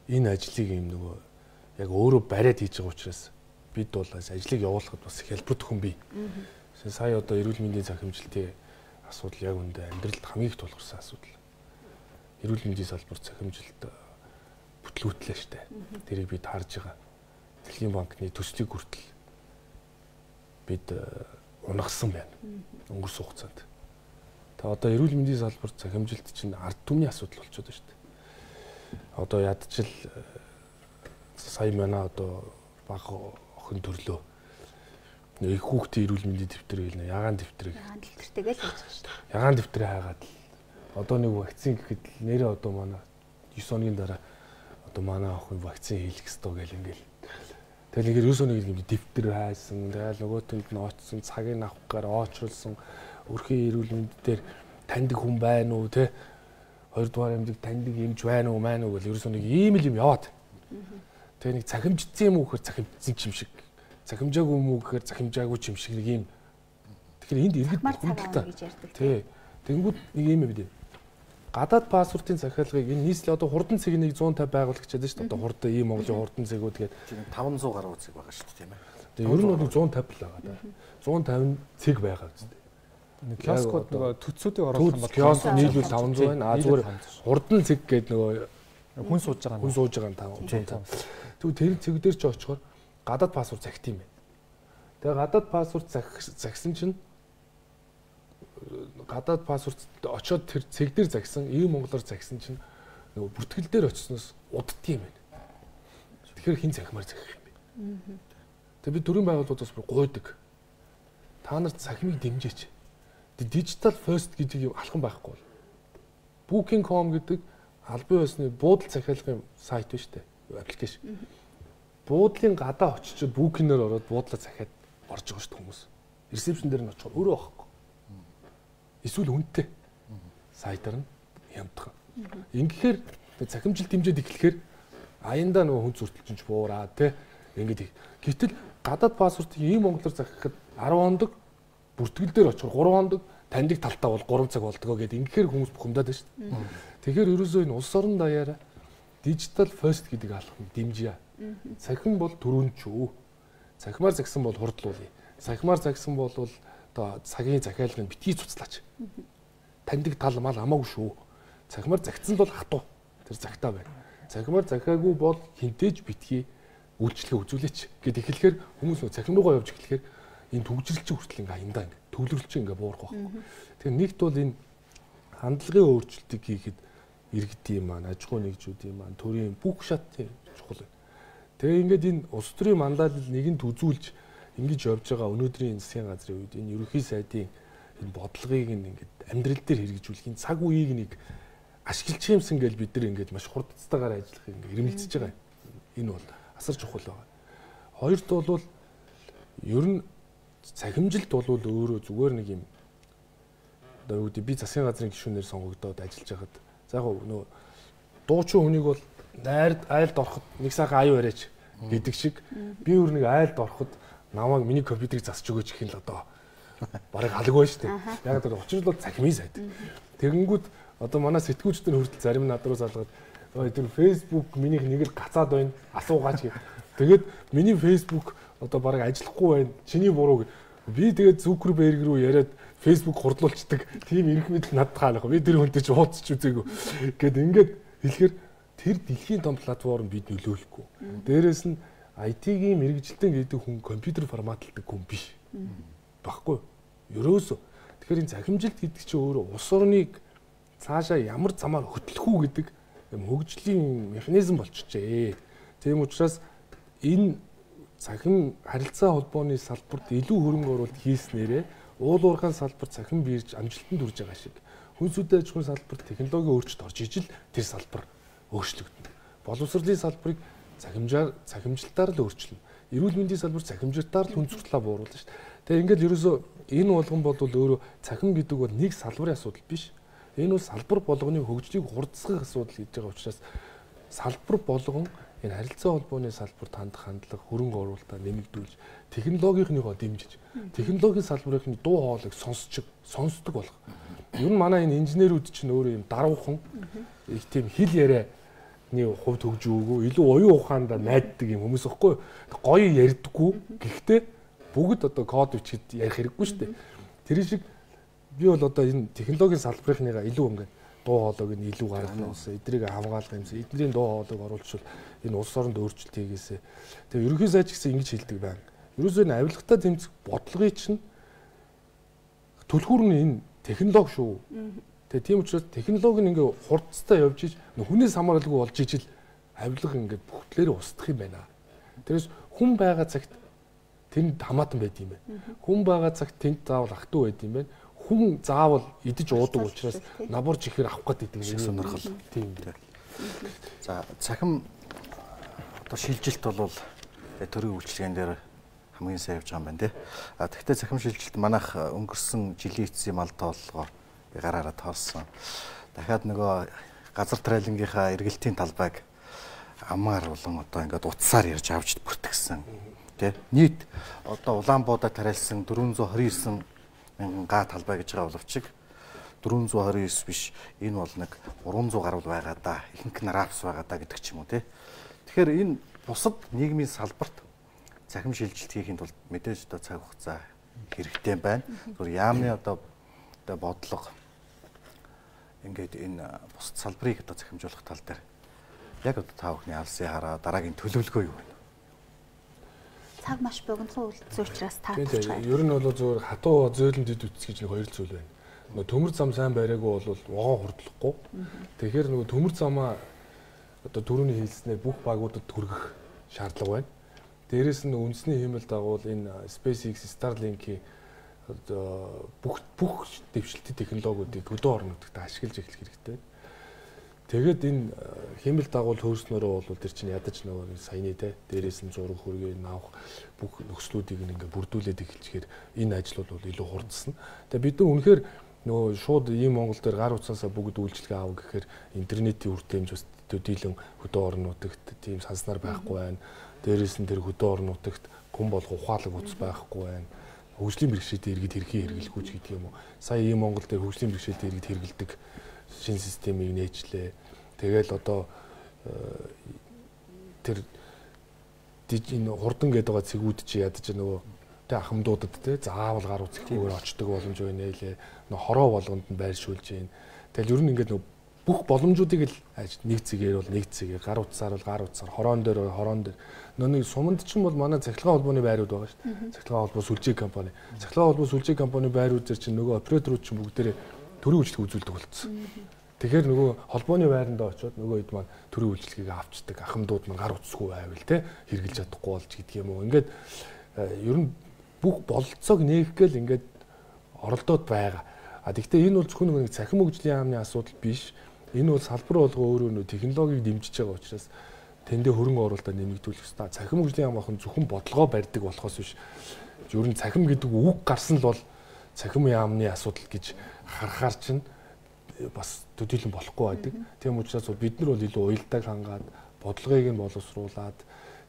энэ ажлыг юм нөгөө яг өөрөө бариад хийж байгаа учраас бид бол ажлыг явуулахад бас хялбар төхөн бий. Сая одоо эрүүл мэндийн захимжилтын асуудал яг үндэ амьдралд хамгийн их тулгарсан асуудал. Эрүүл мэндийн салбар захимжилт бүтлгүүтлээ штэ. Тэрийг бид харж байгаа. Дэлхийн банкны төслийг хүртэл бид унагсан байна. Өнгөрсөн хугацаанд. Та одоо эрүүл мэндийн салбар захимжилт чинь ард түмний асуудал болчиход байна штэ. Одоо ядчил сая манай одоо баг охин төрлөө их хүүхдийн эрүүл мэндийн дэвтэр гэлнэ ягаан дэвтрийг ягаан дэвтэртэйгээ л хийж байгаа шүү дээ. Ягаан дэвтрээ хайгаад одоо нэг вакцин гэхэд нэрээ одоо манай девять хоногийн дараа одоо манай охин вакцин хийх ёстой гэл ингээл. Тэгэл ингээд ерөөсөө нэг юм дэвтэр хайсан, тэгэл нөгөөтөнд нь очсон, цагийг авах гээд оочруулсан, өрхийн эрүүл мэнд дээр таньдаг хүн байна уу те? Хоёрдугаар амьдаг таньдаг юмж байна уу, маань уу гэл ерөөсөө нэг ийм л юм яваад. Тэгээ нэг цахимжцсан юм уу гэхээр цахимжцсан юм шиг. Цахимжаагүй юм уу гэхээр цахимжаагүй юм шиг нэг юм. Тэгэхээр энд иргэд хүндэлтэй гэж ярьдаг. Тий. Тэнгүүд нэг юм бид. Гадаад паспортын захиалгыг энэ нийслэл одоо хурдан цэг нэг one fifty байгуулах гэж байна шүү дээ. Одоо хурдан ийм Монголын хурдан цэгүүд гээд five hundred гаруй цэг байгаа шүү дээ тийм ээ. Тэгээ ер нь бол one fifty л байгаа да. one fifty цэг байгаа үстэй. Нэг киоскууд нөгөө төцүүдийг оруулах юм бол киоск нийлүүл five hundred байна. А зүгээр хурдан цэг гээд нөгөө хүн сууж байгаа хүн сууж байгаа нь five hundred. Тэгвэл тэр цэг дээр ч очихоор гадаад паспорт захит юм байна. Тэгээ гадаад паспорт захисан чинь гадаад паспорт очоод тэр цэг дээр загсан, ийм монголоор загсан чинь нөгөө бүртгэл дээр очсноос уддсан юм байна. Тэгэхээр хин захимаар захих юм бэ. Тэгээ би төрийн байгууллагуудаас бүр гуйдаг. Та нарт захимыг дэмжээч. Digital first гэдэг юм алхан байхгүй бол. booking dot com гэдэг албан ёсны буудал захиалгын сайт байна шүү дээ. Аппликейшн. Буудлын гадаа очичод booking-ээр ороод буудлаа захиад орж байгаа шүү дээ хүмүүс. Ресепшн дээр нь очихоор өөрөө байхгүй. Эсвэл үнэтэй сайтар нь хямдхан. Ингэхээр захимжил дэмжээд эхлэхээр аяндаа нөгөө хүн зүртэлчинч буураа тий. Ингээд гэтэл гадаад паспортыг ийм монголоор захихад ten хоног бүртгэл дээр очихоор three хоног таньдаг талтаа бол three цаг болдгоо гэдэг ингэхээр хүмүүс бухимдаад байна шүү дээ. Тэгэхээр ерөөсөө энэ улс орон даяараа digital first гэдэг алхам дэмжиж. Цахим бол төрөнд шүү. Цахимаар загсан бол хурдлуулъя. Цахимаар загсан бол одоо цагийн захиалгыг битгий цуцлаач. Таньдаг тал мал хамаагүй шүү. Цахимаар загтсан бол хатуу. Тэр загтаа байна. Цахимаар захиагүй бол хинтээж битгий үйлчлэгээ үзүүлээч гэд эхлэхээр хүмүүс нөө цахим руугаа явж эхлэхээр энэ төгжрэлчин хүртэл ингээ аяндаа ингээ төвлөрөлчин ингээ буурах байхгүй. Тэгэхээр нэгт бол энэ хандлагын өөрчлөлтийг хийхэд иргэдийн маань, аж ахуй нэгжүүдийн маань, төрийн бүх шатын чухал байна. Тэгээ ингээд энэ улс төрийн мандаалал нэгэнд үзүүлж ингэж явж байгаа өнөөдрийн засгийн газрын үед энэ ерөнхий сайдын энэ бодлогыг ингээд амьдрал дээр хэрэгжүүлэх энэ цаг үеийг нэг ашиглах юмсан гэж бид нар ингээд маш хурдцтайгаар ажиллах ингээд ирмэлцэж байгаа. Энэ бол асар чухал байна. Хоёрт бол ер нь цахимжилт бол өөрөө зүгээр нэг юм одоо юу гэдэг би засгийн газрын гишүүнээр сонгогдоод ажиллаж байхад за яг нөө дуучин хүнийг бол найрд айлд ороход нэг сайхан аюу яриач гэдэг шиг би өөр нэг айлд ороход намайг миний компьютерийг засч өгөөч гэх юм л одоо бараг халаг байна шүү дээ. Яг тэр учир нь бол цахимын сайд. Тэгэнгүүт одоо манай сэтгүүлчдэр хүртэл зарим над руу залгаад ой тэр Facebook минийх нэг л гацаад байна асуугаач гэх. Тэгээд миний Facebook одоо бараг ажиллахгүй байна. Чиний буруу. Би тэгээд Zuckerberg руу яриад Facebook хурдлуулцдаг. Тийм эрх мэдэл надад хаалах. Би тэр хүнтэй ч уулзч үзээгүй. Гэт ингээд хэлэхээр тэр дэлхийн том платформ бид нөлөөлөхгүй. Дээрээс нь ай ти-гийн мэрэгжилтэн гэдэг хүн компьютер форматалдаг хүн биш. Баггүй. Ерөөсөө. Тэгэхээр энэ захимжилт гэдэг чинь өөрөө улс орныг цаашаа ямар замаар хөтлөх үү гэдэг юм хөгжлийн механизм болчихжээ. Тийм учраас энэ цахим харилцаа холбооны салбарт илүү хөрөнгө оруулалт хийснээрээ уул уурхайн салбарт цахим бирж амжилтанд хүрж байгаа шиг хүнсүдэ аж ахуйн салбарт технологийн өөрчлөлт орж ижил тэр салбар өөрчлөгдөнө. Боловсролын салбарыг цахимжаар цахимжилтаар л өөрчилнө. Эрүүл мэндийн салбар цахимжилтаар л хүн сурталаа бууруулна шүү дээ. Тэгээ ингээд ерөөсөө энэ болгон бол өөрөө цахим гэдэг бол нэг салбарын асуудал биш. Энэ бол салбар болгоны хөгжлийг хурдсгах асуудал гэж байгаа учраас салбар болгон энэ харилцаа холбооны салбарт хандах хандлага хөрөнгө оруулалтаа нэмэгдүүлж технологийнхныгоо дэмжиж технологийн салбарын дуу хоолойг сонсч сонсдог болох. Ер нь манай энэ инженерүүд чинь өөрөө юм даруухан их тийм хэл ярианы хувьд хөгжөөгөө илүү оюун ухаандаа найддаг юм хүмүүс ихгүй гоё ярьдаггүй. Гэхдээ бүгд одоо код бичихэд ярих хэрэггүй шүү дээ. Тэр шиг би бол одоо энэ технологийн салбарынхныгаа илүү ингээд дуу хоолойг нь илүү гаргах юмсан эдрийг хамгаалах юмсан эднэрийн дуу хоолойг оруулчихвал энэ улс оронд өөрчлөлт хийгээсэ. Тэгээ ерөнхий сайд ч гэсэн ингэж хэлдэг байна. Ерөөсөө энэ авилгатаа тэмцэх бодлогыг чинь түлхүүр нь энэ технологи шүү. Тэгээ тийм учраас технологи нь ингээ хурдцтай явж иж хүнээс хамааралгүй болж ижил авилга ингээ бүгдлээрээ устдах юм байна. Тэрээс хүн байгаа цагт тэнд хамаатан байд юм байна. Хүн байгаа цагт тэнд заавал ах トゥ байд юм байна. хүн заавал идэж уудаг учраас наборж ихээр авах гэдэг нэг сонирхол. Тийм. За цахим одоо шилжилт бол төрийн үйлчлэгэн дээр хамгийн сайн явж байгаа юм байна тий. А тэгвэл цахим шилжилт манайх өнгөрсөн жилийн эцсийн мал тооллогоо би гараараа тоолсон. Дахиад нөгөө газар трайлингийнхаа эргэлтийн талбайг амаар болон одоо ингээд утсаар ярьж авч бүртгэсэн тий. Нийт одоо Улаанбуудаа тариалсан дөрвөн зуун хорин девять мянган га талбай гэж байгаа боловч дөрвөн зуун хорин девять биш энэ бол нэг гурван зуун гаруй байгаа да. Ихэнх нь рапс байгаа да гэдэг ч юм уу тий. Тэгэхээр энэ бусад нийгмийн салбарт цахим шилжилт хийхэд бол мэдээж одоо цаг хугацаа хэрэгтэй байна. Зүгээр яамны одоо одоо бодлого ингээд энэ бусад салбарыг одоо захимжуулах тал дээр яг одоо та бүхний алсын хараа дараагийн төлөвлөгөө юу вэ? Цаг маш богинохон үлдсэн учраас таатчих. Ер нь бол зөвхөн хатуу зөөлөн дэд үтс гэж нэг хоёр зүйл байна. Нөгөө төмөр зам сайн байраагүй бол вогоо хурдлахгүй. Тэгэхээр нөгөө төмөр замаа одоо түрүүний хэлснээр бүх багуудад хүргэх шаардлага байна. Дээрээс нь үндэсний хиймэл дагуул энэ SpaceX, Starlink-ийн одоо бүх бүх дэвшилтийн технологиудыг хөдөө орнуудад ашиглаж эхлэх хэрэгтэй. Тэгээд энэ хиймэл дагуул хөөснөрөө бол тэр чинь ядаж нөгөө саяны те дээрээс нь зураг хөргийг авах бүх нөхцлүүдийг ингээ бүрдүүлээд эхэлчихээр энэ ажил бол илүү хурдсан. Тэгээд бид нар үнэхээр нөгөө шууд ийм Монгол дээр гар утсаасаа бүгд үйлчлэгээ аав гэхээр интернетийн үр дүнж бас төдийлөн хөдөө орнуудагт тийм санснаар байхгүй байна. Дээрээс нь тэр хөдөө орнуудагт хүн болох ухаалаг утас байхгүй байна. Хөгжлийн бэрхшээлтэй иргэд хэрхэн хэрэглэхгүй ч гэдэг юм уу. Сая ийм Монгол дээр хөгжлийн бэрхшээлтэй иргэд хэрэглэдэг шинэ системийг нээжлээ. Тэгэл одоо тэр энэ хурдан гэдэг байгаа цэгүүд чи ядаж нөгөө тэ ахмадуудад тэ заавал гар утсахгүйгээр очдог боломж байна лээ. Нөгөө хороо болгонд нь байршуулж байна. Тэгэл ер нь ингээд нөгөө бүх боломжуудыг л нэг цэгээр бол нэг цэгээр, гар утсаар бол гар утсаар, хороон дээр бол хороон дээр. Нөгөө суманд ч юм бол манай цахилгаан холбооны байрууд байгаа шүү дээ. Цахилгаан холбоо сүлжээ компани. Цахилгаан холбоо сүлжээ компани байрууд зэр чинь нөгөө операторууд чинь бүгдээрээ төрийн үйлчлэг үзүүлдэг болцсон. Тэгэхээр нөгөө холбооны байранд очиод нөгөө хэд маань төрийн үйлчлэгийг авчдаг, ахмадууд маань гар утсгүй байвал те хэрглэж чадахгүй болж гэдэг юм уу. Ингээд ер нь бүх бололцоог нээх гээл ингээд оролдоод байгаа. А тэгвэл энэ бол зөвхөн нэг цахим хөгжлийн яамны асуудал биш. Энэ бол салбар болгоо өөрөө нөө технологиг дэмжиж байгаа учраас тэндээ хөрөнгө оруулалтаа нэмэгдүүлэх ёстой. Цахим хөгжлийн яам ахын зөвхөн бодлогоо барьдаг болохоос биш. Ер нь цахим гэдэг үг гарсан л бол цахим яамны асуудал гэж харахаар чинь бас төдийлөн болохгүй байдаг. Тийм учраас бид нар бол илүү уялдааг хангаад бодлогыг нь боловсруулад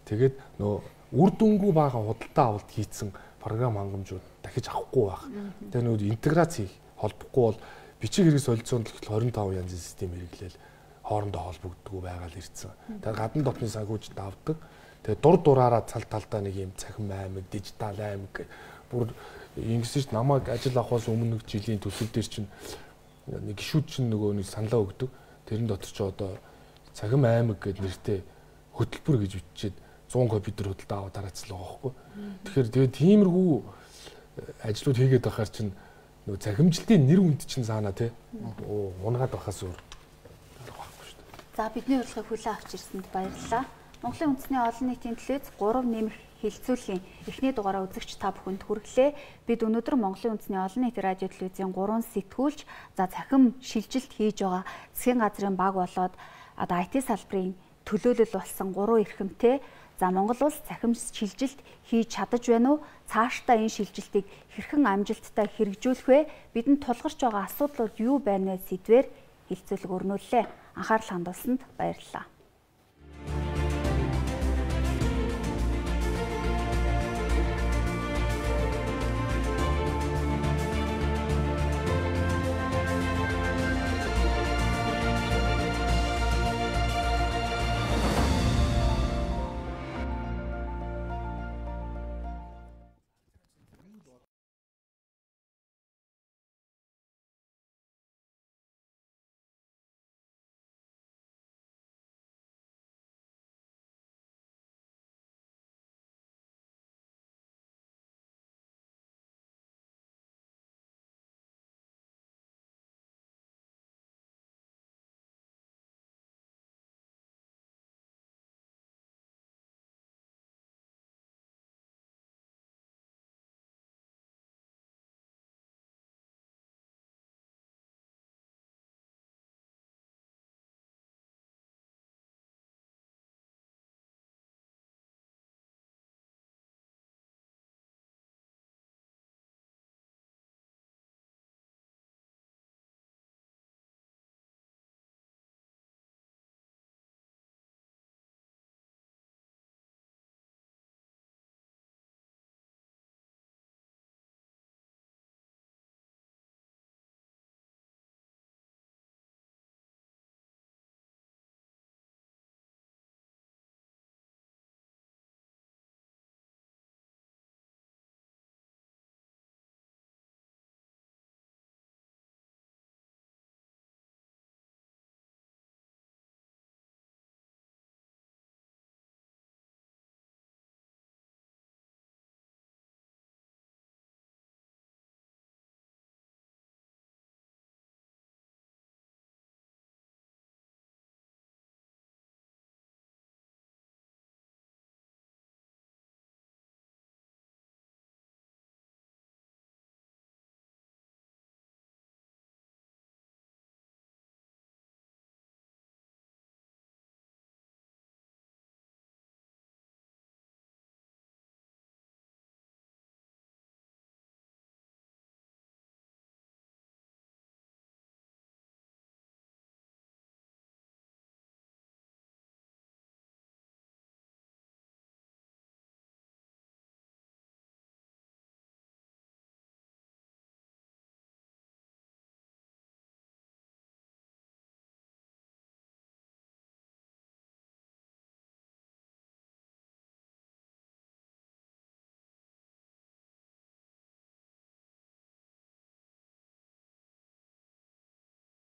тэгээд нөө үр дүнгүй бага худалдаа авалт хийцэн програм хангамжууд дахиж авахгүй байх. Тэгээд нөө интеграц хийх холбохгүй бол бичиг хэрэг солилцоонд л двадцать пять янзын систем хэрэглээл хоорондоо холбогддгүй байгаад ирсэн. Тэгээд гадны дотны санхүүжилт авдаг. Тэгээд дур дураараа цал талдаа нэг юм цахим аймаг, дижитал аймаг бүр ингэсэж намайг ажил авахаас өмнө нэг жилийн төсөв дээр чинь нэг гişүүд чинь нөгөө нэг саналаа өгдөг. Тэрэн дотор ч одоо цахим аймаг гэдэг нэртэй хөтөлбөр гэж бичээд сто компьютер хөдөлтөө аваад тараацлаа байхгүй. Тэгэхээр тэгээд тиймэрхүү ажлууд хийгээд байхаар чинь нөгөө захимжилтын нэр үнд чинь заана тий. Унгаад байхаас өөр байхгүй шүү дээ. За бидний урилгыг хүлээн авч ирсэнд баярлалаа. Монголын үндэсний олон нийтийн төлөөс гурав нэмэх хилцүүлгийн эхний дугаараа үзэгч та бүхэнд хүргэлээ. Бид өнөөдөр Монголын үндэсний олон нийтийн радио телевизийн гурван сэтгүүлч за цахим шилжилт хийж байгаа засгийн газрын баг болоод одоо ай ти салбарын төлөөлөл болсон гурван эрхэмтэй за Монгол улс цахим шилжилт хийж чадаж байна уу? Цаашдаа энэ шилжилтийг хэрхэн амжилттай хэрэгжүүлэх вэ? Бидэнд тулгарч байгаа асуудлууд юу байна вэ? Сэдвээр хилцүүлэг өрнүүллээ. Анхаарал хандуулсанд баярлалаа.